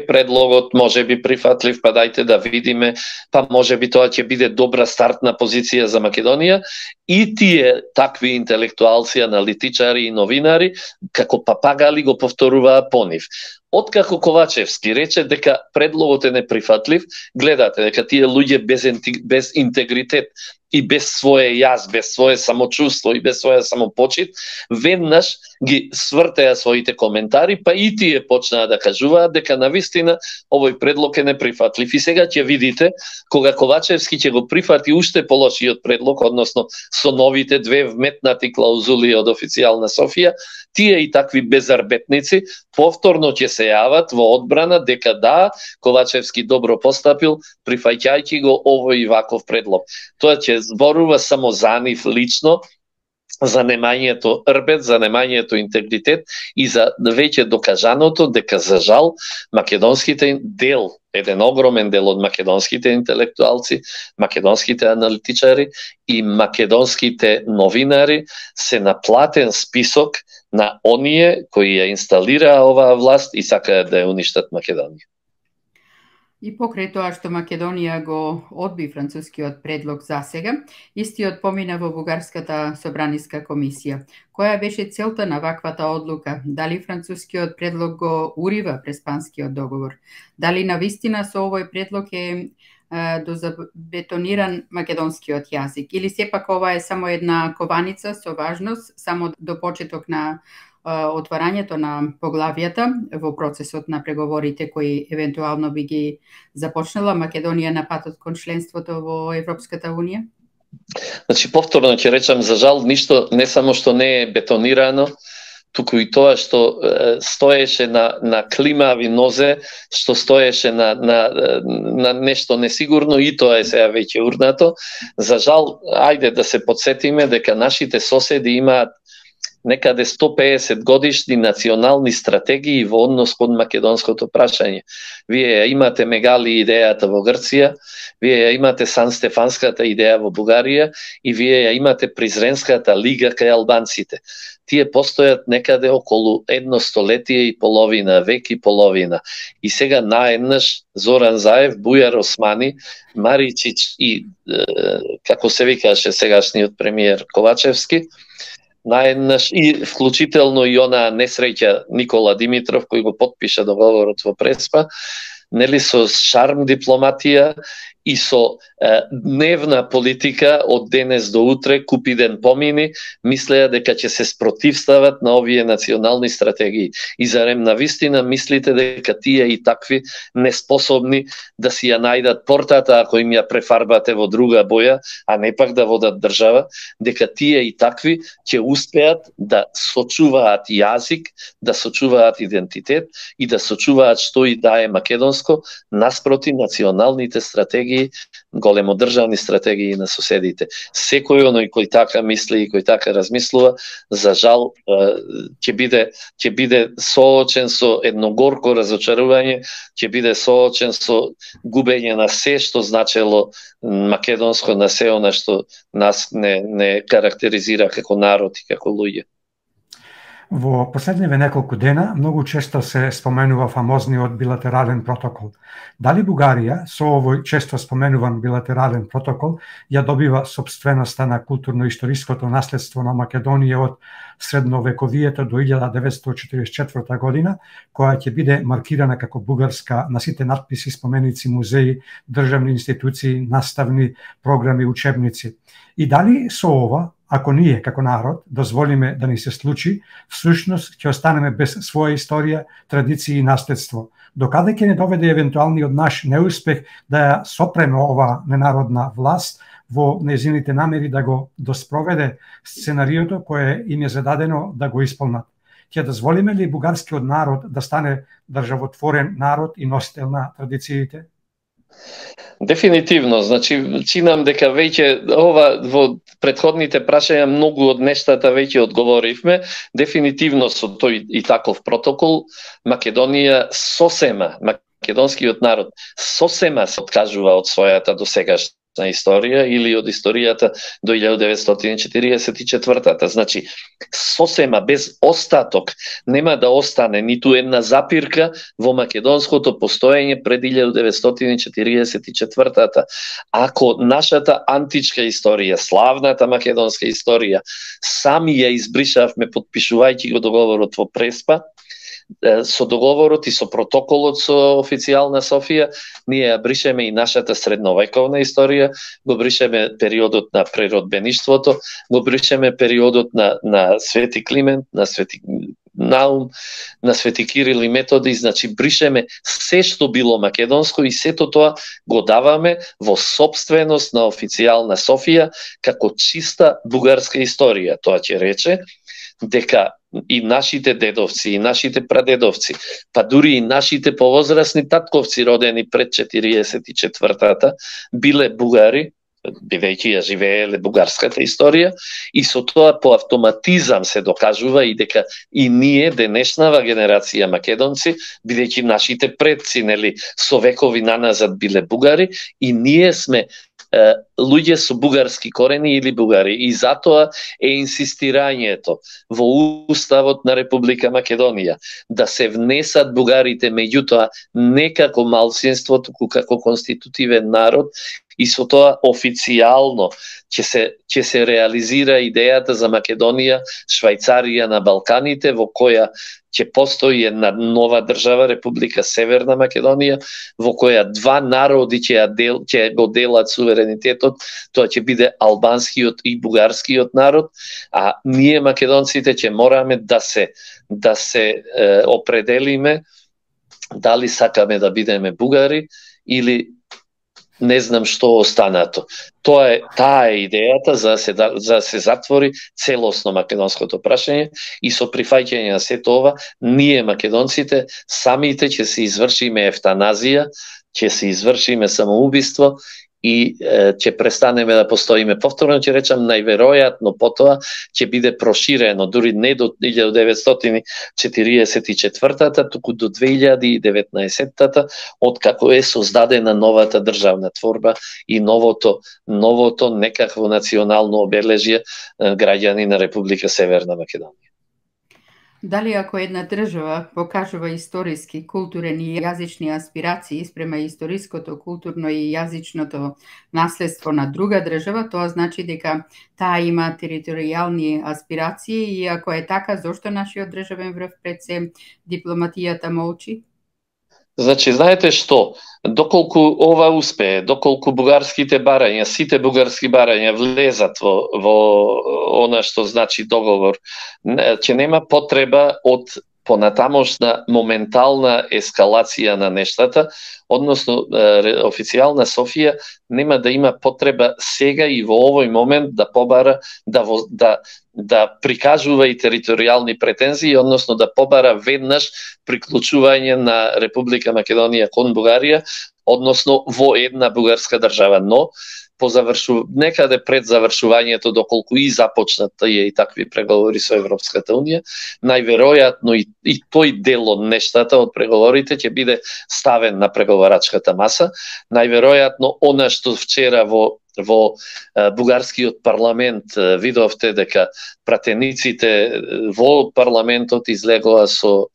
предлогот може би прифатлив, па дајте да видиме, па може би тоа ќе биде добра стартна позиција за Македонија, и тие такви интелектуалци, аналитичари и новинари, како папагали го повторуваа по нив. Откако Ковачевски рече дека предлогот е неприфатлив, гледате дека тие луѓе без интегритет и без свое јас, без свое самочувство и без своја самопочит, веднаш ги свртеа своите коментари, па и тие почнаа да кажуваат дека навистина овој предлог е неприфатлив. И сега ќе видите, кога Ковачевски ќе го прифати уште полошиот предлог, односно со новите две вметнати клаузули од официјална Софија, тие и такви безарбетници повторно ќе се јават во одбрана дека да, Ковачевски добро постапил, прифаќајќи го овој и ваков предлог. Тоа ќе зборува само за нив лично, за немањето рбет, за немањето интегритет и за веќе докажаното дека за жал македонските еден огромен дел од македонските интелектуалци, македонските аналитичари и македонските новинари се на платен список на оние кои ја инсталираа оваа власт и сакаат да ја уништат Македонија. И покрај тоа што Македонија го одби францускиот предлог засега, истиот помина во Бугарската собраниска комисија. Која беше целта на ваквата одлука? Дали францускиот предлог го урива преспанскиот договор? Дали навистина со овој предлог е дозабетониран македонскиот јазик? Или сепак ова е само една кованица со важност, само до почеток на отварањето на поглавијата во процесот на преговорите кои евентуално би ги започнала Македонија на патот кон членството во Европската Унија? Значи, повторно ќе речам, за жал, ништо не само што не е бетонирано, туку и тоа што стоеше на климави нозе, што стоеше на нешто несигурно, и тоа е сега веќе урнато. За жал, ајде да се подсетиме дека нашите соседи имаат некаде 150 годишни национални стратегии во однос кон македонското прашање. Вие ја имате Мегали идејата во Грција, вие ја имате Сан-Стефанската идеја во Бугарија и вие ја имате Призренската лига кај албанците. Тие постојат некаде околу 1 столетие и половина, век и половина. И сега наеднаш Зоран Заев, Бујар Османи, Маричич и, како се викаше сегашниот премиер Ковачевски, наеднаш и вклучително и она несреќа Никола Димитров кој го потпиша договорот во Преспа, нели, со шарм дипломатија и со дневна политика од денес до утре, купи ден помини, мислеа дека ќе се спротивстават на овие национални стратегии. И зарем навистина мислите дека тие и такви неспособни да си ја најдат портата ако им ја префарбате во друга боја, а не пак да водат држава, дека тие и такви ќе успеат да сочуваат јазик, да сочуваат идентитет и да сочуваат што и да е македонско наспроти националните стратегии, големодржавни стратегии на соседите. Секој оној кој така мисли и кој така размислува, за жал ќе биде соочен со едно горко разочарување, ќе биде соочен со губење на се што значело македонско, на се она што нас не карактеризира како народ и како луѓе. Во последниве неколку дена многу често се споменува фамозниот билатерален протокол. Дали Бугарија со овој често споменуван билатерален протокол ја добива собственоста на културно-историското наследство на Македонија од средновековието до 1944 година, која ќе биде маркирана како бугарска на сите надписи, споменици, музеи, државни институции, наставни програми, учебници? И дали со ова, ако ние како народ дозволиме да ни се случи, всушност ќе останеме без своја историја, традиции и наследство? Докаде ќе не доведе евентуалниот наш неуспех да ја сопреме ова ненародна власт во нејзините намери да го доспроведе сценариото кое им е зададено да го исполнат? Ќе дозволиме ли бугарскиот народ да стане државотворен народ и носител на традициите? Дефинитивно, значи чинам дека веќе ова во претходните прашања многу од нештата веќе одговоривме. Дефинитивно со тој и таков протокол Македонија сосема, македонскиот народ сосема се откажува од својата досегашна историја или од историјата до 1944-та. Значи, сосема без остаток нема да остане ниту една запирка во македонското постоење пред 1944-та. Ако нашата античка историја, славната македонска историја, сами ја избришавме подпишувајќи го договорот во Преспа, со договорот и со протоколот со официјална Софија, ние ја бришеме и нашата средновековна историја, го бришеме периодот на преродбеништвото, го бришеме периодот на Свети Климент, на Свети Наум, на Свети Кирил и Методи, значи бришеме се што било македонско и сето тоа го даваме во сопственост на официјална Софија како чиста бугарска историја. Тоа ќе рече дека и нашите дедовци, и нашите прадедовци, па дури и нашите повозрасни татковци родени пред 44-та, биле бугари, бидејќи ја живееле бугарската историја, и со тоа по автоматизам се докажува и дека и ние, денешнава генерација македонци, бидејќи нашите предци, нели, со векови наназад биле бугари, и ние сме луѓе со бугарски корени или бугари. И затоа е инсистирањето во Уставот на Република Македонија да се внесат бугарите, меѓутоа не како малцинство, туку како конститутивен народ, и со тоа официјално ќе се реализира идејата за Македонија, Швајцарија на Балканите, во која ќе постои една нова држава, Република Северна Македонија, во која два народи ќе го делат суверенитетот, тоа ќе биде албанскиот и бугарскиот народ, а ние македонците ќе мораме да се определиме дали сакаме да бидеме бугари или не знам што останато. Таа е идејата за да се затвори целосно македонското прашање, и со прифаќање на сето ова, ние македонците самите ќе се извршиме евтаназија, ќе се извршиме самоубиство и ќе престанеме да постоиме. Повторно ќе речам, најверојатно потоа ќе биде проширено, дури не до 1944-та, туку до 2019-та, откако е создадена новата државна творба и новото некакво национално обележје граѓани на Република Северна Македонија. Дали ако една држава покажува историски, културен и јазични аспирации спрема историското, културно и јазичното наследство на друга држава, тоа значи дека таа има територијални аспирации, и ако е така, зошто нашиот државен врв пред се дипломатијата молчи? Значи, знаете што? Доколку ова успее, доколку бугарските барања, сите бугарски барања влезат во она што значи договор, ќе нема потреба од понатамошна моментална ескалација на нештата, односно официјална Софија нема да има потреба сега и во овој момент да побара да прикажува и територијални претензии, односно да побара веднаш приклучување на Република Македонија кон Бугарија, односно во една бугарска држава, но некаде пред завршувањето, доколку и започнат и такви преговори со Европската Унија, најверојатно и тој дел од нештата, од преговорите, ќе биде ставен на преговарачката маса. Најверојатно она што вчера во бугарскиот парламент видовте дека пратениците во парламентот излегоа со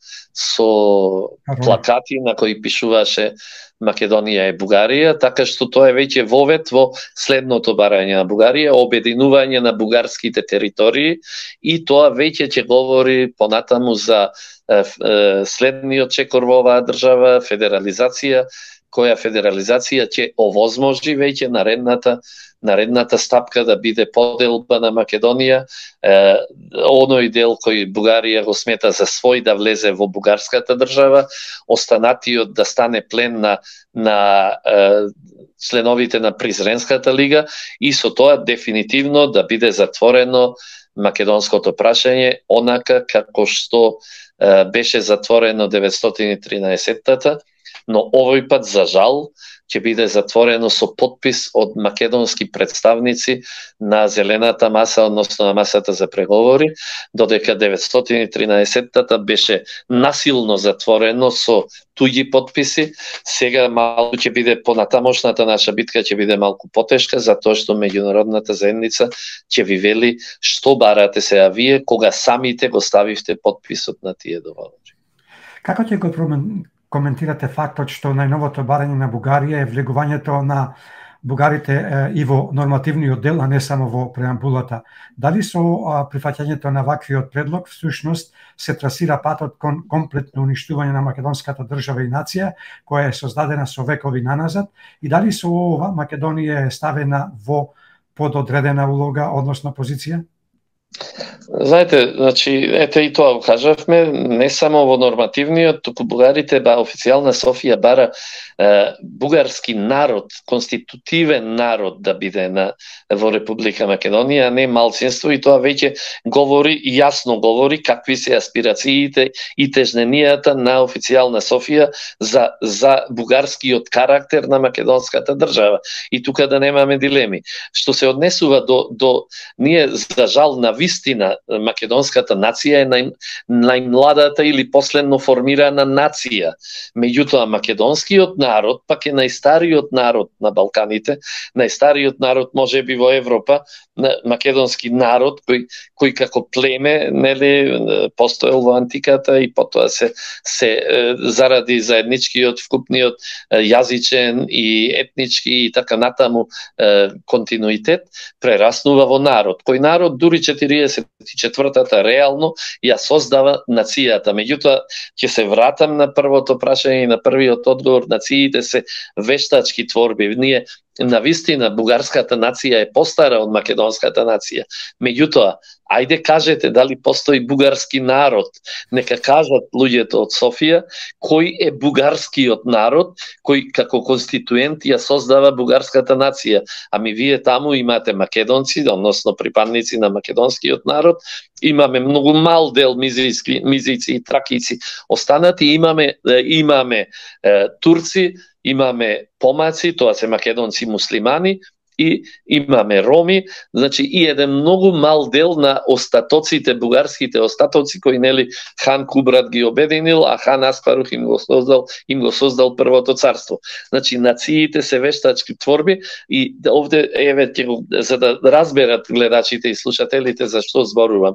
плакати на кои пишуваше Македонија е Бугарија, така што тоа е веќе вовет во следното барање на Бугарија, обединување на бугарските територии, и тоа веќе ќе говори понатаму за следниот чекор во оваа држава, федерализација, која федерализација ќе овозможи веќе наредната стапка да биде поделба на Македонија, оној дел кој Бугарија го смета за свој да влезе во бугарската држава, останатиот да стане плен на членовите на Призренската лига, и со тоа дефинитивно да биде затворено македонското прашање, онака како што беше затворено 913-та, но овој пат, за жал, ќе биде затворено со подпис од македонски представници на зелената маса, односно на масата за преговори, додека 913-тата беше насилно затворено со туѓи потписи. Сега малку ќе биде понатамошната наша битка ќе биде малку потешка, затоа што меѓународната заедница ќе ви вели што барате сега вие кога самите го ставивте потписот на тие договори. Како ќе го коментирате фактот што најновото барање на Бугарија е влегувањето на бугарите и во нормативниот дел, а не само во преамбулата? Дали со прифаќањето на ваквиот предлог всушност се трасира патот кон комплетно уништување на македонската држава и нација, која е создадена со векови наназад, и дали со ова Македонија е ставена во пододредена улога, односно позиција? Знаете, значи, ете и тоа го кажавме, не само во нормативниот, туку бугарите, официјална Софија бара бугарски народ, конститутивен народ да биде во Република Македонија, а не малцинство, и тоа веќе говори, јасно говори какви се аспирациите и тежненијата на официјална Софија за бугарскиот карактер на македонската држава. И тука да немаме дилеми. Што се однесува до ние, за жал, на вистина, македонската нација е најмладата или последно формирана нација. Меѓутоа, македонскиот народ пак е најстариот народ на Балканите, најстариот народ можеби во Европа, македонски народ кој како племе, нели, постоел во антиката и потоа се заради заедничкиот вкупниот јазичен и етнички и така натаму континуитет прераснува во народ. Кој народ дури 44-тата реално ја создава нацијата. Меѓутоа, ќе се вратам на првото прашање и на првиот одговор. Нациите се вештачки творби. Ние на вистина бугарската нација е постара од македонската нација. Меѓутоа, ајде кажете дали постои бугарски народ. Нека кажат луѓето од Софија кој е бугарскиот народ кој како конституент ја создава бугарската нација. Ами вие таму имате македонци, односно припадници на македонскиот народ, имаме многу мал дел мизици и тракици останати, имаме турци, имаме помаци, тоа се македонци муслимани, и имаме роми, значи и еден многу мал дел на остатоците, бугарските остатоци кои нели хан Кубрат ги обединил, а хан Аспарух им го создал првото царство. Значи нациите се вештачки творби и овде еве за да разберат гледачите и слушателите за што зборувам.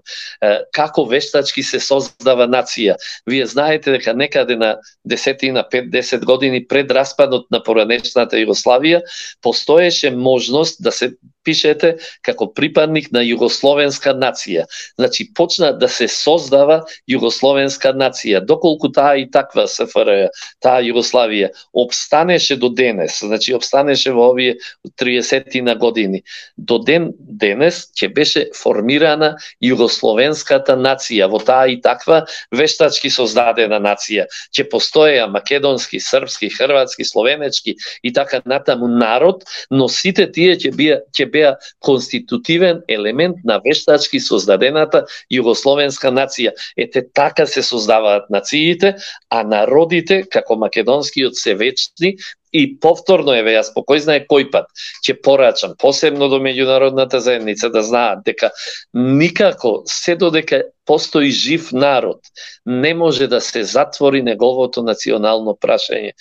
Како вештачки се создава нација? Вие знаете дека некаде на 5-10 години пред распадот на поранешната Југославија постоеше можност да се пишете како припадник на југословенска нација. Значи, почна да се создава југословенска нација. Доколку таа и таква СФР, таа Југославија, обстанеше до денес, значи обстанеше во овие 30 на години. До денес ќе беше формирана југословенската нација, во таа и таква вештачки создадена нација. Ќе постоеа македонски, српски, хрватски, словенечки и така натаму народ, но сите тие ќе беа конститутивен елемент на вештачки создадената југословенска нација. Ете така се создаваат нациите, а народите, како македонскиот, се вечни. И повторно, еве, јас по кој знае кој пат ќе порачам, посебно до меѓународната заедница, да знаат дека никако, се додека постои жив народ, не може да се затвори неговото национално прашање.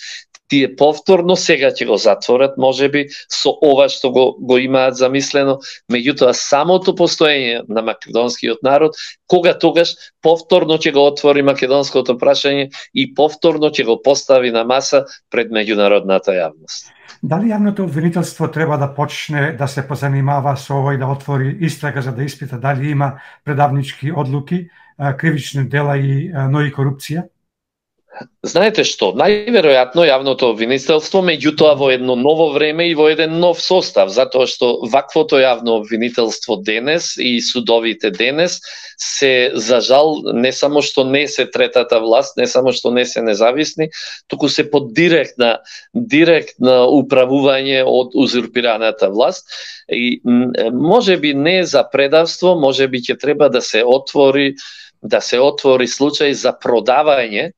Тие повторно сега ќе го затворат, можеби со ова што го имаат замислено, меѓутоа самото постоење на македонскиот народ, кога тогаш повторно ќе го отвори македонското прашање и повторно ќе го постави на маса пред меѓународната јавност. Дали јавното обвинителство треба да почне да се позанимава со ова и да отвори истрага за да испита дали има предавнички одлуки, кривични дела но и корупција? Знаете што, најверојатно јавното обвинителство, меѓутоа во едно ново време и во еден нов состав, затоа што ваквото јавно обвинителство денес и судовите денес се, за жал, не само што не се третата власт, не само што не се независни, туку се под директна управување од узурпираната власт. И можеби не за предавство, можеби ќе треба да се отвори случај за продавање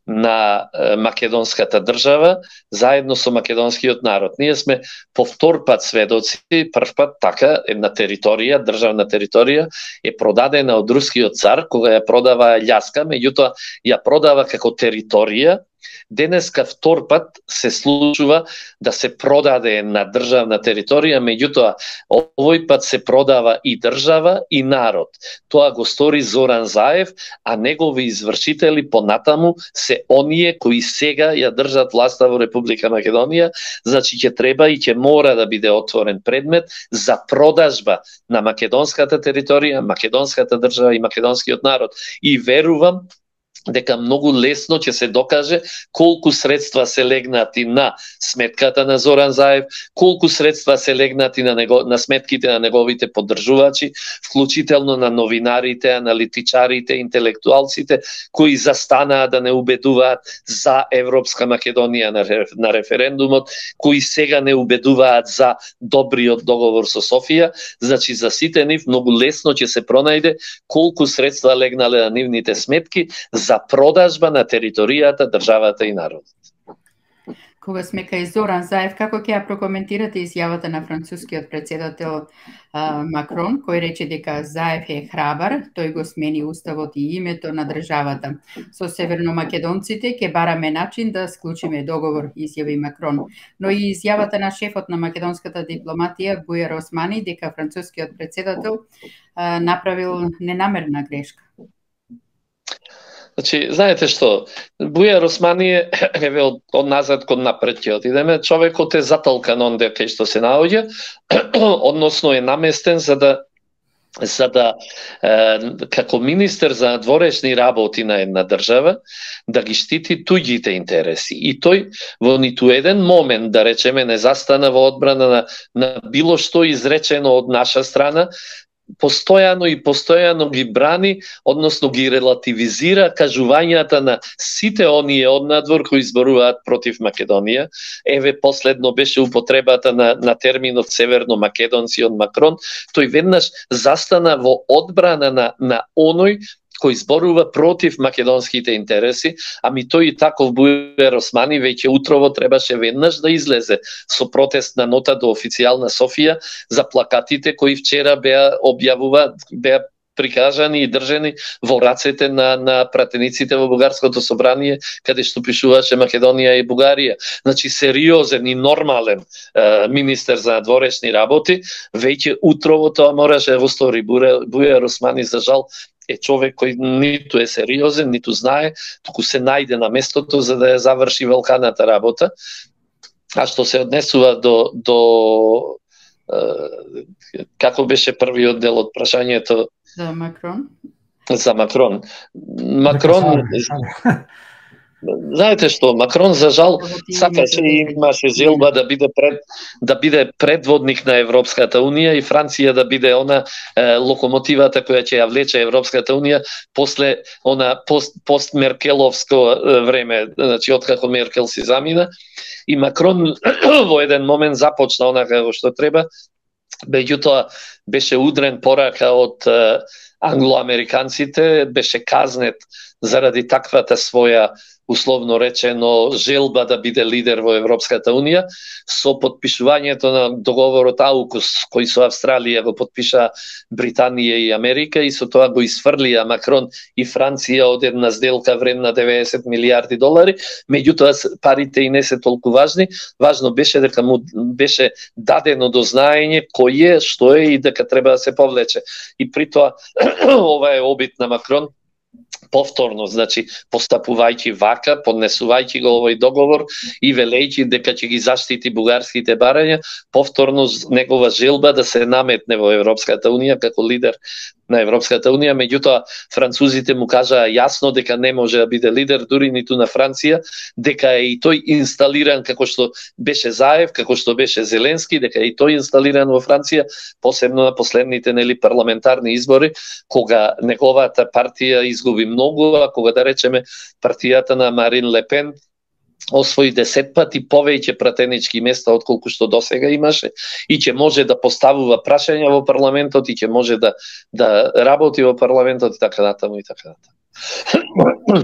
на македонската држава заедно со македонскиот народ. Ние сме по втор пат сведоци, прв пат така една територија, државна територија е продадена од рускиот цар кога ја продава Аљаска, меѓутоа ја продава како територија. Денеска втор пат се случува да се продаде на државна територија, меѓутоа овој пат се продава и држава и народ. Тоа го стори Зоран Заев, а негови извршители понатаму се оние кои сега ја држат власта во Република Македонија, значи ќе треба и ќе мора да биде отворен предмет за продажба на македонската територија, македонската држава и македонскиот народ. И верувам дека многу лесно ќе се докаже колку средства се легнати на сметката на Зоран Заев, колку средства се легнати на сметките на неговите поддржувачи, вклучително на новинарите, аналитичарите, интелектуалците, кои застанаа да не убедуваат за Европска Македонија на референдумот, кои сега не убедуваат за добриот договор со Софија. Значи, за сите нив многу лесно ќе се пронајде колку средства легнале на нивните сметки за продажба на територијата, државата и народот. Кога сме кај Зоран Заев, како ќе ја прокоментирате изјавата на францускиот председател Макрон, кој рече дека Заев е храбар, тој го смени уставот и името на државата. Со северномакедонците ќе бараме начин да склучиме договор, изјави Макрон. Но и изјавата на шефот на македонската дипломатија Бујар Османи дека францускиот председател направил ненамерна грешка. Значи, знаете што, Бујар Османи е од назад кон напред ќе отидеме, човекот е затолкан онде кај што се наоѓа, односно е наместен за да како министер за надворешни работи на една држава да ги штити туѓите интереси. И тој во ниту еден момент, да речеме, не застана во одбрана на било што изречено од наша страна, постојано ги брани, односно ги релативизира кажувањата на сите оние од надвор кои изборуваат против Македонија. Еве последно беше употребата на терминот северно-македонци од Макрон. Тој веднаш застана во одбрана на оној кој зборува против македонските интереси, ами тој и таков Бујар Османи веќе утрово требаше веднаш да излезе со протестна нота до официјална Софија за плакатите кои вчера беа прикажани и држени во рацете на пратениците во Бугарското собрание, каде што пишуваше Македонија и Бугарија. Значи, сериозен и нормален министер за надворешни работи, веќе утрово тоа мораше да го стори. Бујар Османи, за жал, е човек кој ниту е сериозен, ниту знае, туку се најде на местото за да ја заврши велканата работа. А што се однесува до како беше првиот дел од прашањето? За Макрон. За Макрон. Макрон, знаете што, Макрон за жал сакаше и имаше желба да биде предводник на Европската Унија и Франција да биде она локомотивата која ќе ја влече Европската Унија после она пост-меркеловско време, значи откако Меркел си замина. И Макрон во еден момент започна онака како што треба, меѓутоа беше удрен порака од англоамериканците, беше казнет заради таквата своја, условно речено, желба да биде лидер во Европската Унија, со подпишувањето на договорот АУКУС, кој со Австралија го подпиша Британија и Америка, и со тоа го изфрлија Макрон и Франција од една сделка вредна 90 милиарди долари, меѓутоа парите и не се толку важни, важно беше дека му беше дадено до знаење кој е, што е и дека треба да се повлече. И при тоа, ова е обид на Макрон, повторно, значи, постапувајќи вака, поднесувајќи го овој договор и велејќи дека ќе ги заштити бугарските барања, повторно негова желба да се наметне во Европската Унија како лидер на Европската Унија, меѓутоа французите му кажаа јасно дека не може да биде лидер, дури ниту на Франција, дека е и тој инсталиран како што беше Заев, како што беше Зеленски, дека е и тој инсталиран во Франција, посебно на последните парламентарни избори, кога неговата партија изгуби многу, а кога, да речеме, партијата на Марин Ле Пен освои 10 пати повеќе пратенички места отколку што досега имаше и ќе може да поставува прашања во парламентот и ќе може да работи во парламентот и така натаму и така натаму.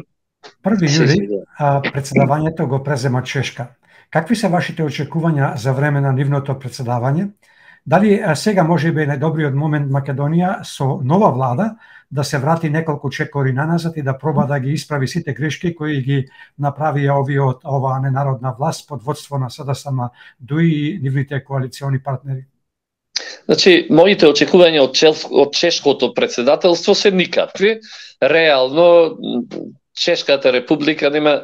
1 јули председавањето го презема Чешка. Какви се вашите очекувања за време на нивното председавање? Дали сега можеби е најдобриот момент Македонија со нова влада да се врати неколку чекори наназад и да проба да ги исправи сите грешки кои ги направија оваа ненародна власт под водство на СДСМ ДУИ и нивните коалициони партнери? Значи, моите очекувања од чешкото председателство се никакви. Реално, Чешката република нема,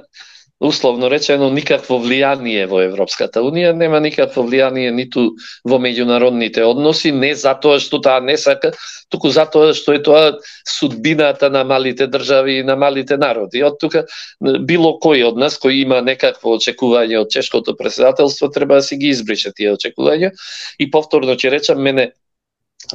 условно речено, никакво влијание во Европската Унија, нема никакво влијание ниту во меѓународните односи, не затоа што таа не сака, туку затоа што е тоа судбината на малите држави и на малите народи. Од тука, било кој од нас кој има некакво очекување од чешкото председателство, треба да си ги избрише тие очекувања. И повторно ќе речам, мене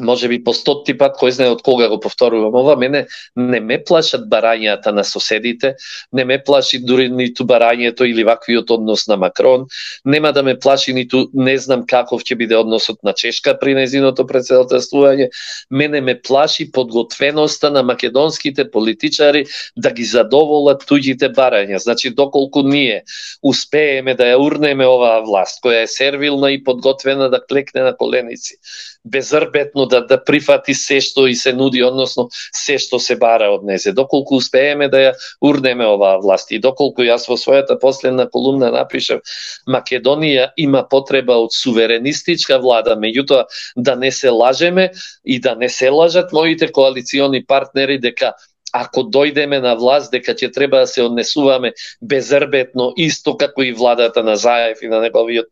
може би по 100-ти пат, кој знае од кога го повторувам ова, мене не ме плашат барањата на соседите, не ме плаши дури ниту барањето или ваквиот однос на Макрон, нема да ме плаши ниту не знам каков ќе биде односот на Чешка при нејзиното председателствување, мене ме плаши подготвеноста на македонските политичари да ги задоволат туѓите барања. Значи, доколку ние успееме да ја урнеме оваа власт, која е сервилна и подготвена да клекне на коленици, безрбетно да прифати се што и се нуди, односно се што се бара од незе. Доколку успееме да ја урнеме оваа власт и доколку јас во својата последна колумна напишав Македонија има потреба од суверенистичка влада, меѓутоа да не се лажеме и да не се лажат моите коалициони партнери дека ако дојдеме на власт, дека ќе треба да се однесуваме безрбетно, исто како и владата на Заев и на неговиот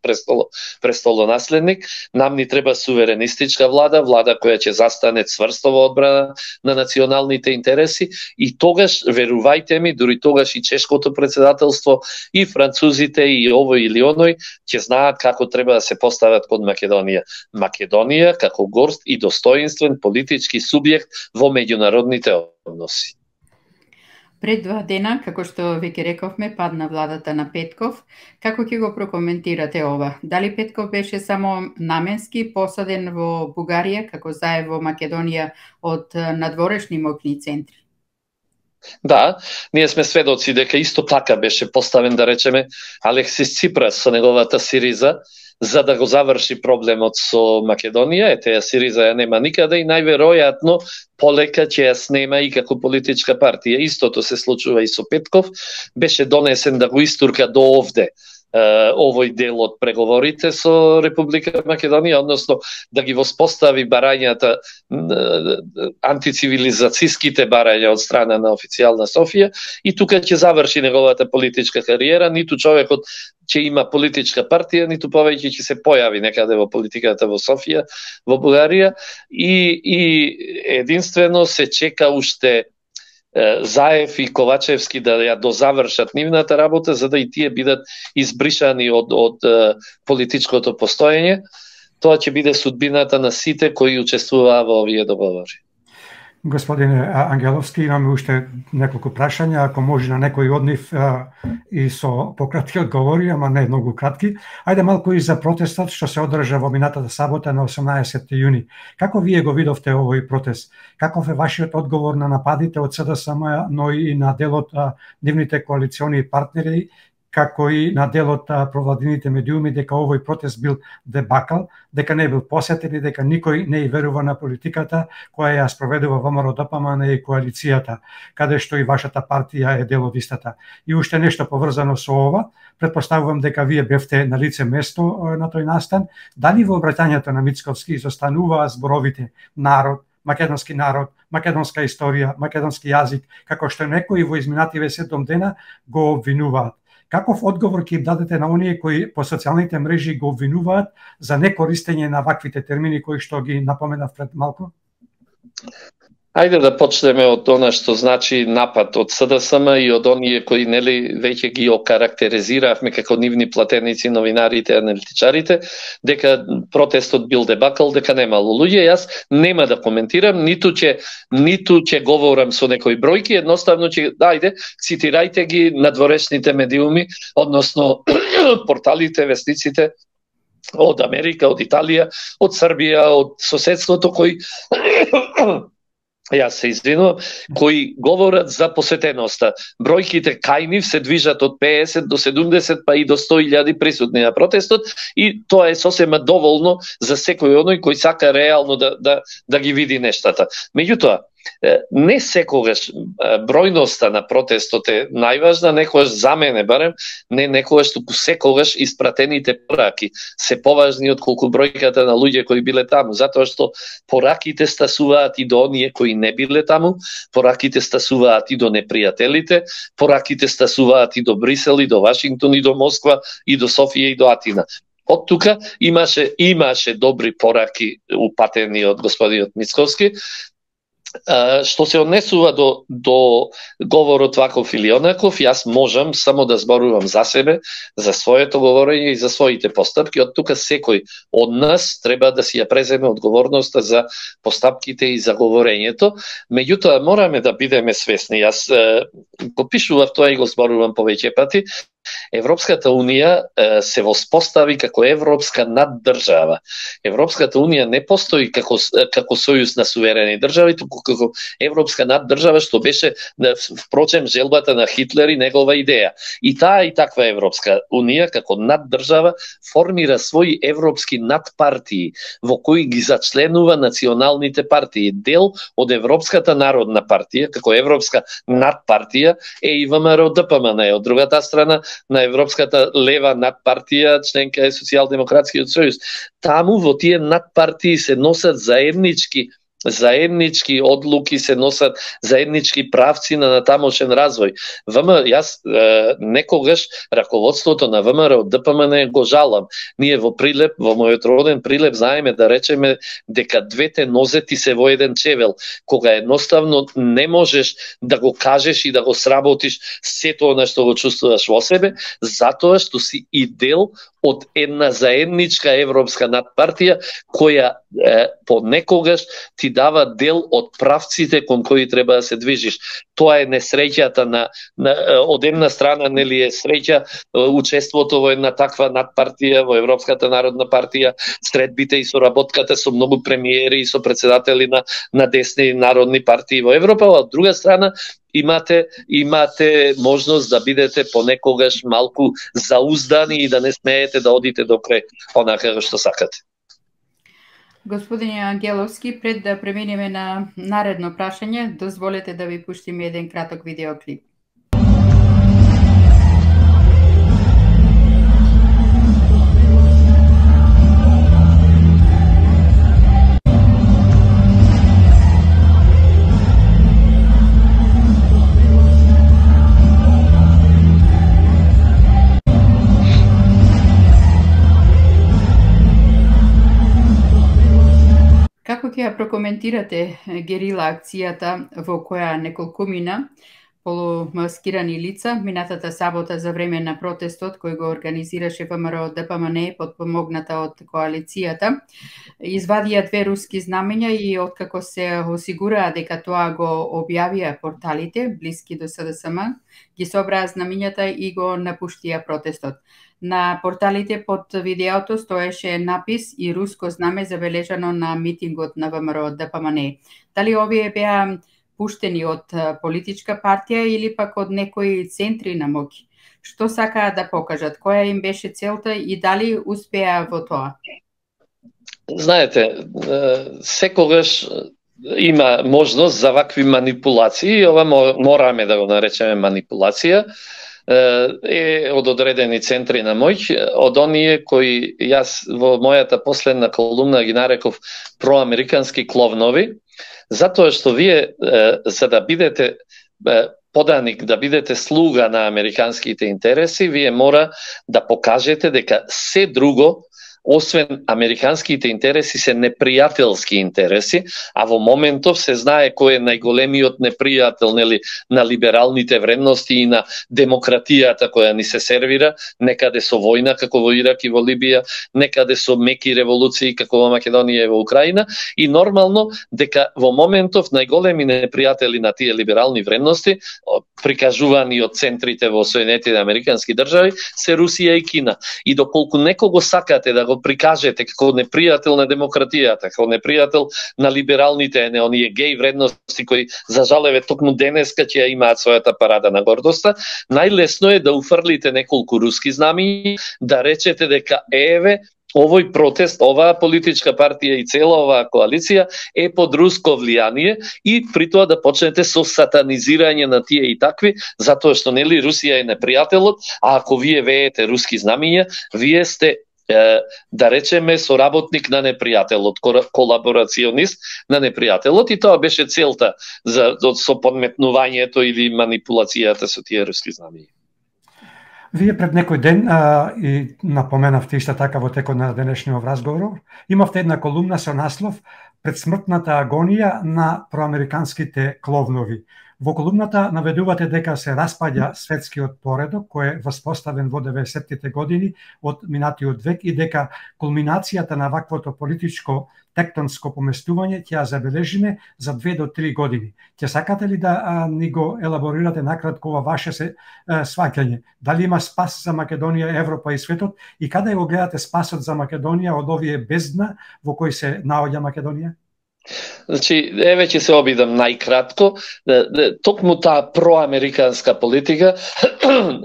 престолонаследник. Нам ни треба суверенистичка влада, влада која ќе застане цврсто во одбрана на националните интереси и тогаш, верувајте ми, дури тогаш и чешкото председателство, и французите, и овој или оној, ќе знаат како треба да се постават кон Македонија. Македонија како горд и достоинствен политички субјект во меѓународните односи. Пред 2 дена, како што веќе рековме, падна владата на Петков. Како ќе го прокоментирате ова? Дали Петков беше само наменски посаден во Бугарија, како Заев во Македонија од надворешни моќни центри? Да, ние сме сведоци дека исто така беше поставен, да речеме, Алексис Ципрас со неговата Сириза, за да го заврши проблемот со Македонија. Таа Сириза ја нема никаде и најверојатно полека ќе ја снема и како политичка партија. Истото се случува и со Петков. Беше донесен да го истурка до овде овој дел од преговорите со Република Македонија, односно да ги воспостави барањата, антицивилизацијските барања од страна на официјална Софија и тука ќе заврши неговата политичка кариера. Ниту човекот ќе има политичка партија, ниту повеќе ќе се појави некаде во политиката во Софија, во Бугарија и единствено се чека уште Заев и Ковачевски да ја дозавршат нивната работа, за да и тие бидат избришани од политичкото постоење. Тоа ќе биде судбината на сите кои учествуваа во овие договори. Господине Ангеловски, имаме уште неколку прашања, ако може на некој од нив и со пократки одговори, ама не многу кратки. Ајде малку и за протестот што се одржа во минатата сабота на 18 јуни. Како вие го видовте овој протест? Каков е вашиот одговор на нападите од СДСМ, но и на делот нивните коалициони партнери, како и на делот провладините медиуми, дека овој протест бил дебакал, дека не бил посетен и дека никој не верува на политиката која ја спроведува ВМРО-ДПМН и коалицијата, каде што и вашата партија е дел од истата. И уште нешто поврзано со ова, претпоставувам дека вие бевте на лице место на тој настан. Дали во обраќањето на Мицковски изостануваа зборовите народ, македонски народ, македонска историја, македонски јазик, како што некои во изминативе 7 дена го обвинуваат? Каков одговор ќе им дадете на оние кои по социјалните мрежи го обвинуваат за некористење на ваквите термини кои што ги напоменав пред малку? Ајде да почнеме од она што значи напад од СДСМ и од оние кои нели веќе ги окарактеризиравме како нивни платеници, новинарите, аналитичарите, дека протестот бил дебакал, дека немало луѓе. Јас нема да коментирам, ниту ќе говорам со некои бројки, едноставно ќе цитирајте ги надворешните медиуми, односно порталите, вестниците од Америка, од Италија, од Србија, од соседството кои јас се извинувам, кои говорат за посетеноста. Бројките кај нив се движат од 50 до 70 па и до 100.000 присутни на протестот и тоа е сосема доволно за секој оној кој сака реално да ги види нештата. Меѓутоа, не секогаш бројноста на протестот е најважна, некогаш за мене барем, не некогаш, туку секогаш испратените пораки се поважни од колку бројката на луѓе кои биле таму, затоа што пораките стасуваат и до оние кои не биле таму, пораките стасуваат и до непријателите, пораките стасуваат и до Брисел, и до Вашингтон, и до Москва, и до Софија, и до Атина. Од тука имаше добри пораки упатени од господинот Мицковски. Што се однесува до говорот ваков или онаков, јас можам само да зборувам за себе, за своето говорење и за своите постапки. Од тука секој од нас треба да си ја преземе одговорноста за постапките и за говорењето. Меѓутоа, мораме да бидеме свесни. Јас го пишував тоа и го зборувам повеќе пати. Европската Унија се воспостави како европска наддржава. Европската Унија не постои како сојуз на суверени држави, туку како европска наддржава, што беше впрочем желбата на Хитлер и негова идеја. И таа и таква Европска Унија како наддржава формира своји европски надпартии во кои ги зачленува националните партии. Дел од Европската народна партија како европска надпартија е и ВМРО-ДПМН. Од другата страна на Европската лева надпартија, членка е Социјалдемократскиот сојуз. Таму во тие надпартии се носат заеднички одлуки, се носат заеднички правци на тамошен развој. Јас некогаш раководството на ВМРО ДПМН го жалам. Ние во Прилеп, во мојот роден Прилеп, знаеме да речеме дека двете нозети се во еден чевел, кога едноставно не можеш да го кажеш и да го сработиш сето она што го чувствуваш во себе, затоа што си и дел од една заедничка европска надпартија која понекогаш ти дава дел од правците кон кои треба да се движиш. Тоа е несреќата од една страна, нели е среќа учеството во една таква надпартија, во Европската народна партија, средбите и соработката со многу премиери и со председатели на десни народни партии во Европа, а од друга страна имате можност да бидете понекогаш малку зауздани и да не смеете да одите до крај онака што сакате. Господине Ангеловски, пред да преминеме на наредно прашање, дозволете да ви пуштиме еден краток видеоклип. Како ќе ја прокоментирате герила акцијата во која неколкумина полумаскирани лица минатата сабота за време на протестот кој го организираше ВМРО ДПМН подпомогната од коалицијата, извадија две руски знамења и откако се осигураа дека тоа го објавија порталите блиски до СДСМ, ги собраа знамењата и го напуштија протестот. На порталите под видеото стоеше напис и руско знаме забележано на митингот на ВМРО ДПМН. Дали овие беа пуштени од политичка партија или пак од некои центри на моќ? Што сакаа да покажат? Која им беше целта и дали успеа во тоа? Знаете, секогаш има можност за вакви манипулации, ова мораме да го наречеме манипулација, е од одредени центри на моќ, од оние кои јас во мојата последна колумна ги нареков проамерикански кловнови, затоа што вие за да бидете поданик, да бидете слуга на американските интереси, вие мора да покажете дека се друго освен американските интереси се непријателски интереси, а во моментов се знае кој е најголемиот непријател, нели, на либералните вредности и на демократијата која ни се сервира, некаде со војна како во Ирак и во Либија, некаде со меки револуции како во Македонија и во Украина, и нормално дека во моментов најголеми непријатели на тие либерални вредности, прикажувани од центрите во Соединетите Американски држави, се Русија и Кина. И доколку некого сакате да го го прикажете како непријател на демократијата, како непријател на либералните, оние геј вредности кои за жал токму денеска ќе имаат својата парада на гордоста, најлесно е да уфрлите неколку руски знамиња, да речете дека еве овој протест, оваа политичка партија и цела оваа коалиција е под руско влијание и при тоа да почнете со сатанизирање на тие и такви, затоа што нели Русија е непријателот, а ако вие веете руски знамиња, вие сте да речеме соработник на непријателот, колаборационист на непријателот, и тоа беше целта со подметнувањето или манипулацијата со тие руски знамиња. Вие пред некој ден и напоменавте исто така во текот на денешниот разговор, имавте една колумна со наслов "Предсмртната агонија на проамериканските кловнови". Во колумната наведувате дека се распаѓа светскиот поредок кој е воспоставен во 90-тите години од минатиот век и дека кулминацијата на ваквото политичко тектонско поместување ќе ја забележиме за 2 до 3 години. Ќе сакате ли да ни го елаборирате накратко ова ваше сваќање? Дали има спас за Македонија, Европа и светот и каде го гледате спасот за Македонија од овие бездна во кои се наоѓа Македонија? Значи, еве ќе се обидам најкратко. Токму таа проамериканска политика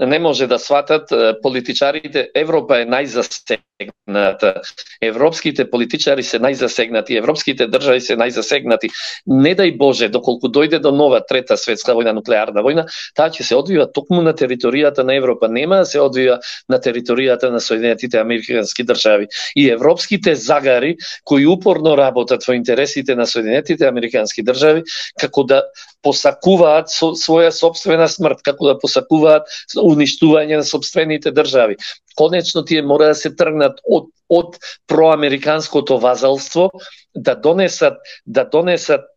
не може да сватат политичарите. Европа е најзасегната. Европските политичари се најзасегнати, европските држави се најзасегнати. Не дај Боже, доколку дојде до нова трета светска војна, нуклеарна војна, таа ќе се одвива токму на територијата на Европа, нема да се одвива на територијата на Соединетите американски држави. И европските загари кои упорно работат во интересите на Соединетите американски држави, како да посакуваат своја собствена смрт, како да посакуваат уништување на собствените држави. Конечно тие мора да се тргнат од проамериканското вазалство, да донесат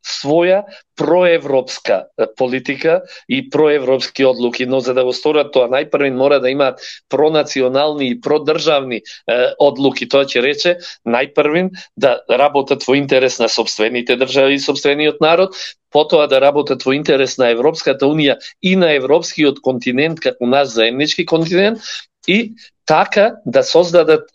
своја проевропска политика и проевропски одлуки, но за да го сторат тоа најпрвен мора да имаат пронационални и продржавни одлуки. Тоа ќе рече најпрвен да работат во интерес на собствените држави и собствениот народ, потоа да работат во интерес на Европската унија и на европскиот континент како наш заеднички континент, и така да создадат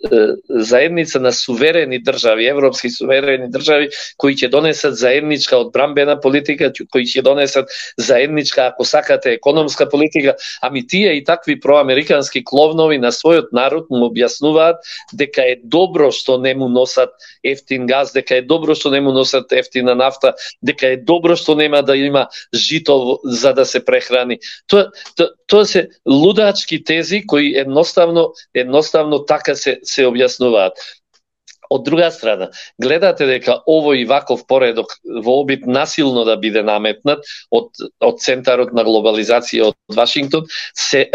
заедница на суверени држави, европски суверени држави, кои ќе донесат заедничка одбранбена политика, кои ќе донесат заедничка, ако сакате, економска политика. Ами тие и такви проамерикански кловнови на својот народ му објаснуваат дека е добро што не му носат ефтин газ, дека е добро што не му носат ефтина нафта, дека е добро што нема да има жито за да се прехрани. Тоа се лудачки тези кои едноставно така се објаснуваат. Од друга страна, гледате дека овој ваков поредок во обид насилно да биде наметнат од центарот на глобализација од Вашингтон, се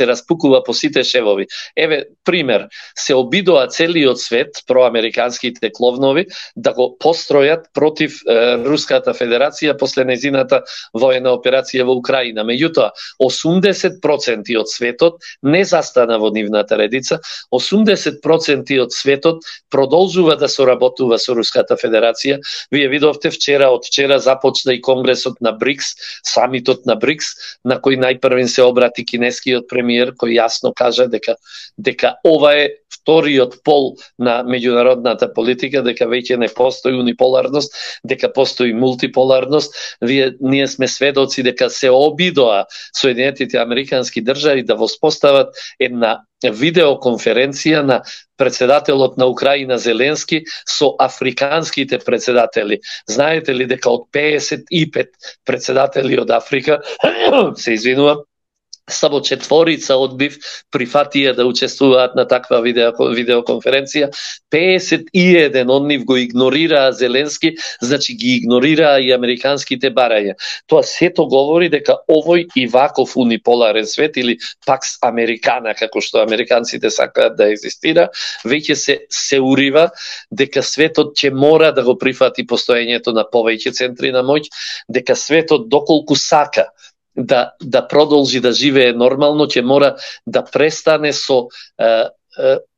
распукува по сите шевови. Еве пример, се обидоа целиот свет, проамериканските кловнови, да го постројат против Руската Федерација после незината воена операција во Украина. Меѓутоа, 80% од светот не застана во нивната редица, 80% од светот продолжува да соработува со Руската Федерација. Вие видовте од вчера започна и конгресот на БРИКС, самитот на БРИКС, на кој најпрвен се обрати кинескиот премиер, кој јасно кажа дека ова е вториот пол на меѓународната политика, дека веќе не постои униполарност, дека постои мултиполарност. Ние сме сведоци дека се обидоа Соединетите американски држави да воспостават една видеоконференција на председателот на Украина Зеленски со африканските председатели. Знаете ли дека од 55 председатели од Африка, се извинувам, само 4 одбив прифатија да учествуваат на таква видеоконференција. 51 од нив го игнорираа Зеленски, значи ги игнорираа и американските барања. Тоа сето говори дека овој и ваков униполарен свет, или пакс американа, како што американците сакаат да екзистира, веќе се урива дека светот ќе мора да го прифати постоењето на повеќе центри на моќ, дека светот доколку сака да продолжи да живее нормално, ќе мора да престане со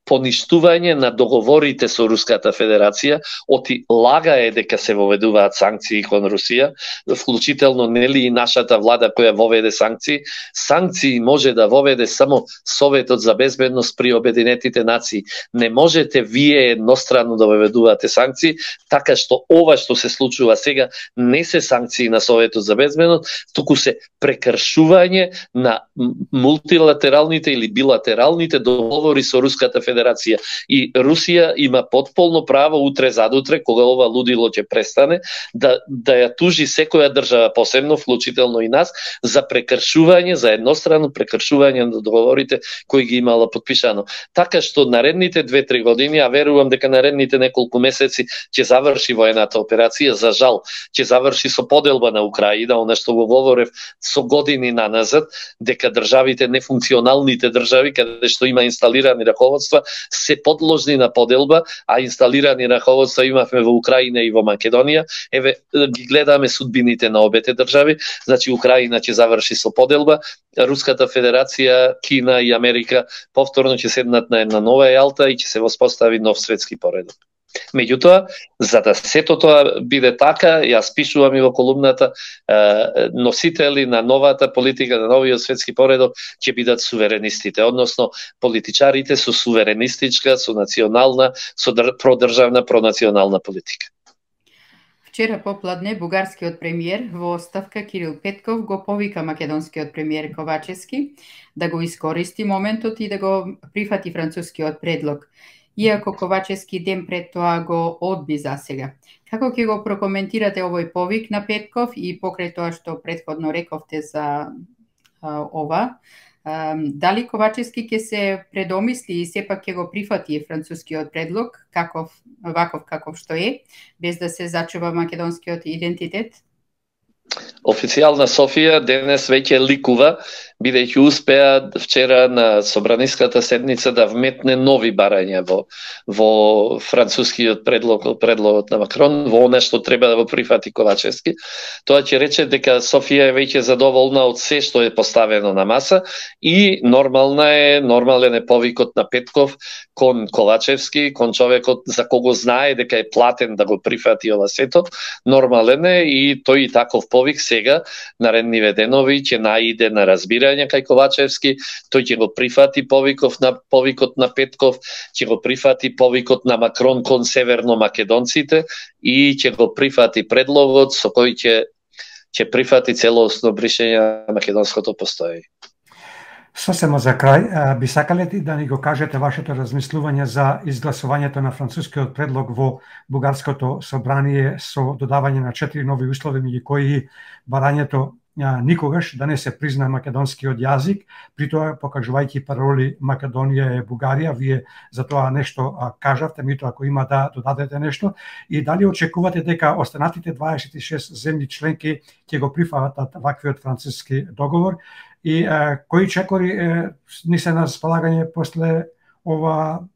поништување на договорите со Руската Федерација, оти лага е дека се воведуваат санкции кон Русија, вклучително нели и нашата влада која воведе санкции. Санкции може да воведе само Советот за безбедност при Обединетите нации. Не можете вие едностранно да воведувате санкции, така што ова што се случува сега не се санкции на Советот за безбедност, туку се прекршување на мултилатералните или билатералните договори со Руската Федерација. И Русија има потполно право утре задутре, кога ова лудило ќе престане, да ја тужи секоја држава, посебно вклучително и нас, за прекршување, за едностранно прекршување на договорите кои ги имала подпишано. Така што наредните 2-3 години, а верувам дека наредните неколку месеци ќе заврши воената операција, за жал, ќе заврши со поделба на Украина, она што го говорев со години наназад, дека државите, нефункционалните држави, каде што има инсталирани раководства, се подложни на поделба, а инсталирани раководства имавме во Украина и во Македонија. Еве, ги гледаме судбините на обете држави. Значи, Украина ќе заврши со поделба, Руската Федерација, Кина и Америка повторно ќе седнат на една нова јалта и ќе се воспостави нов светски поредок. Меѓутоа, за да сето тоа биде така, јас пишувам и во колумната, носители на новата политика, на новиот светски поредок ќе бидат суверенистите, односно политичарите со суверенистичка, со национална, со продржавна, пронационална политика. Вчера попладне бугарскиот премиер во оставка Кирил Петков го повика македонскиот премиер Ковачевски да го искористи моментот и да го прифати францускиот предлог, иако Ковачевски ден пред тоа го одби засега. Како ќе го прокоментирате овој повик на Петков и покрај тоа што претходно рековте за ова? Дали Ковачевски ќе се предомисли и сепак ќе го прифати францускиот предлог, ваков каков што е, без да се зачува македонскиот идентитет? Официјална Софија денес веќе ликува, бидејќи успеа вчера на собраниската седница да вметне нови барања во францускиот предлогот на Макрон, во она што треба да го прифати Ковачевски. Тоа ќе рече дека Софија е веќе задоволна од се што е поставено на маса и нормален е повикот на Петков кон Ковачевски, кон човекот за кого знае дека е платен да го прифати ова сето. Нормален е и тој и таков повик сега наредниве денови ќе наиде на разбирање кај Ковачевски, тој ќе го прифати повикот на Петков, ќе го прифати повикот на Макрон кон северно-македонците и ќе го прифати предлогот со кој ќе прифати целосно бришење на македонското постоење. Сосема за крај, би сакале да ни го кажете вашето размислување за изгласувањето на францускиот предлог во бугарското собрание со додавање на 4 нови услови, меѓу кои барањето никогаш да не се призна македонскиот јазик, при тоа покажувајќи пароли Македонија е Бугарија. Вие за тоа нешто кажавте, меѓутоа ако има да додадете нешто, и дали очекувате дека останатите 26 земји членки ќе го прифатат ваквиот француски договор, и кои чекори ни се на располагање после ова,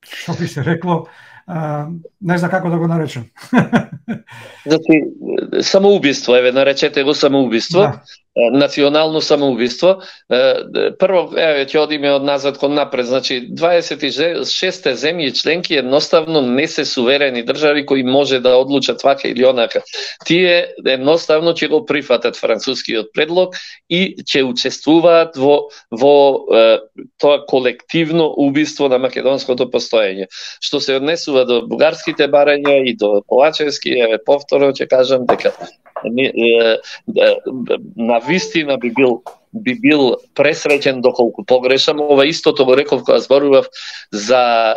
што би се рекло, не знам како да го наречем. Значи, самоубиство, наречете го самоубиство. Да. Национално самоубиство. Прво, ќе одиме од назад кон напред. Значи, 26 земји членки едноставно не се суверени држави кои може да одлучат вака или онака. Тие едноставно ќе го прифатат францускиот предлог и ќе учествуваат во тоа колективно убиство на македонското постоење. Што се однесува до бугарските барања и до Ковачевски, повторно ќе кажам дека на вистина би бил пресреќен доколку погрешам. Ова истото го реков кога зборував за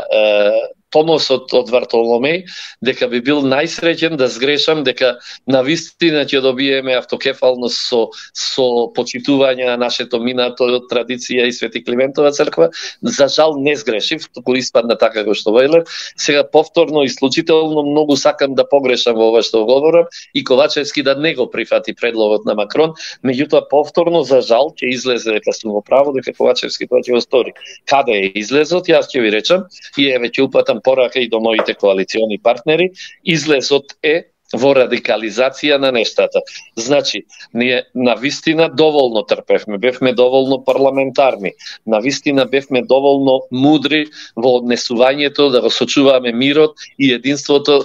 Томосот од Вартоломеј, дека би бил најсреќен да сгрешам, дека на вистина ќе добиеме автокефалност со почитување на нашето минато традиција и Свети Климентова црква. За жал не сгрешив, туку испадна така како што велев. Сега повторно и случително многу сакам да погрешам во ова што говорам и Ковачевски да не го прифати предлогот на Макрон, меѓутоа повторно за жал ќе излезе дека сум во право, дека Ковачевски тоа ќе го стори. Каде е излезот, јас ќе ви речам и еве ќе упатам порака и до моите коалициони партнери. Излезот е во радикализација на нештата. Значи, ние навистина доволно трпевме, бевме доволно парламентарни, навистина бевме доволно мудри во однесувањето да го сочуваме мирот и единството,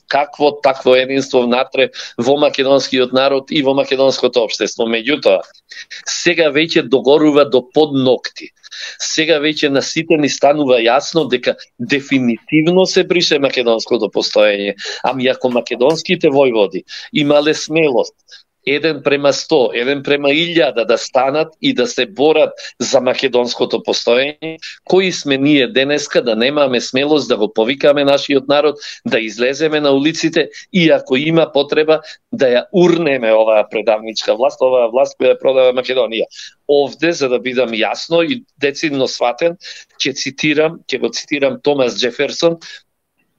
какво такво единство внатре во македонскиот народ и во македонското општество. Меѓутоа, сега веќе догорува до подногти. Сега веќе на сите ни станува јасно дека дефинитивно се брише македонското постоење. Ами ако македонските војводи имале смелост 1:100, 1:1000 да станат и да се борат за македонското постоење, кои сме ние денеска да немаме смелост да го повикаме нашиот народ, да излеземе на улиците и ако има потреба да ја урнеме оваа предавничка власт, оваа власт која ја продава Македонија. Овде, за да бидам јасно и децидно сватен, ќе го цитирам Томас Џеферсон,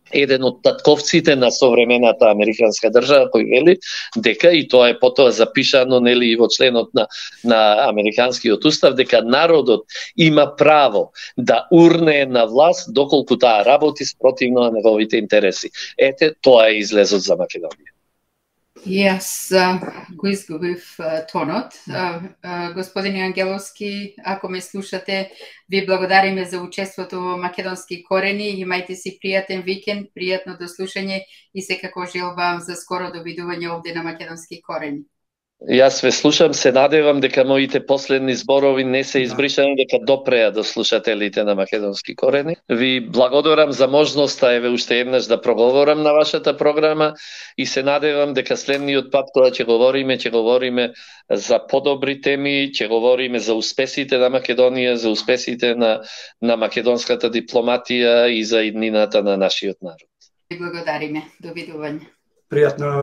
еден од татковците на современата американска држава, кој вели дека, и тоа е потоа запишано нели во членот на американскиот устав, дека народот има право да урне на власт доколку таа работи спротивно на неговите интереси. Ете, тоа е излезот за Македонија. Јас го изгубив тонот. Господин Ангеловски, ако ме слушате, ви благодариме за учеството во Македонски корени. Имајте си пријатен викенд, пријатно дослушање и секако желбам за скоро довидување овде на Македонски корени. Јас ве слушам, се надевам дека моите последни зборови не се избришани, дека допреа до слушателите на Македонски корени. Ви благодарам за можноста, еве уште еднаш да проговорам на вашата програма и се надевам дека следниот пат кога ќе говориме за подобри теми, ќе говориме за успесите на Македонија, за успесите на македонската дипломатија и за иднината на нашиот народ. Ви благодариме. Довидување. Пријатно.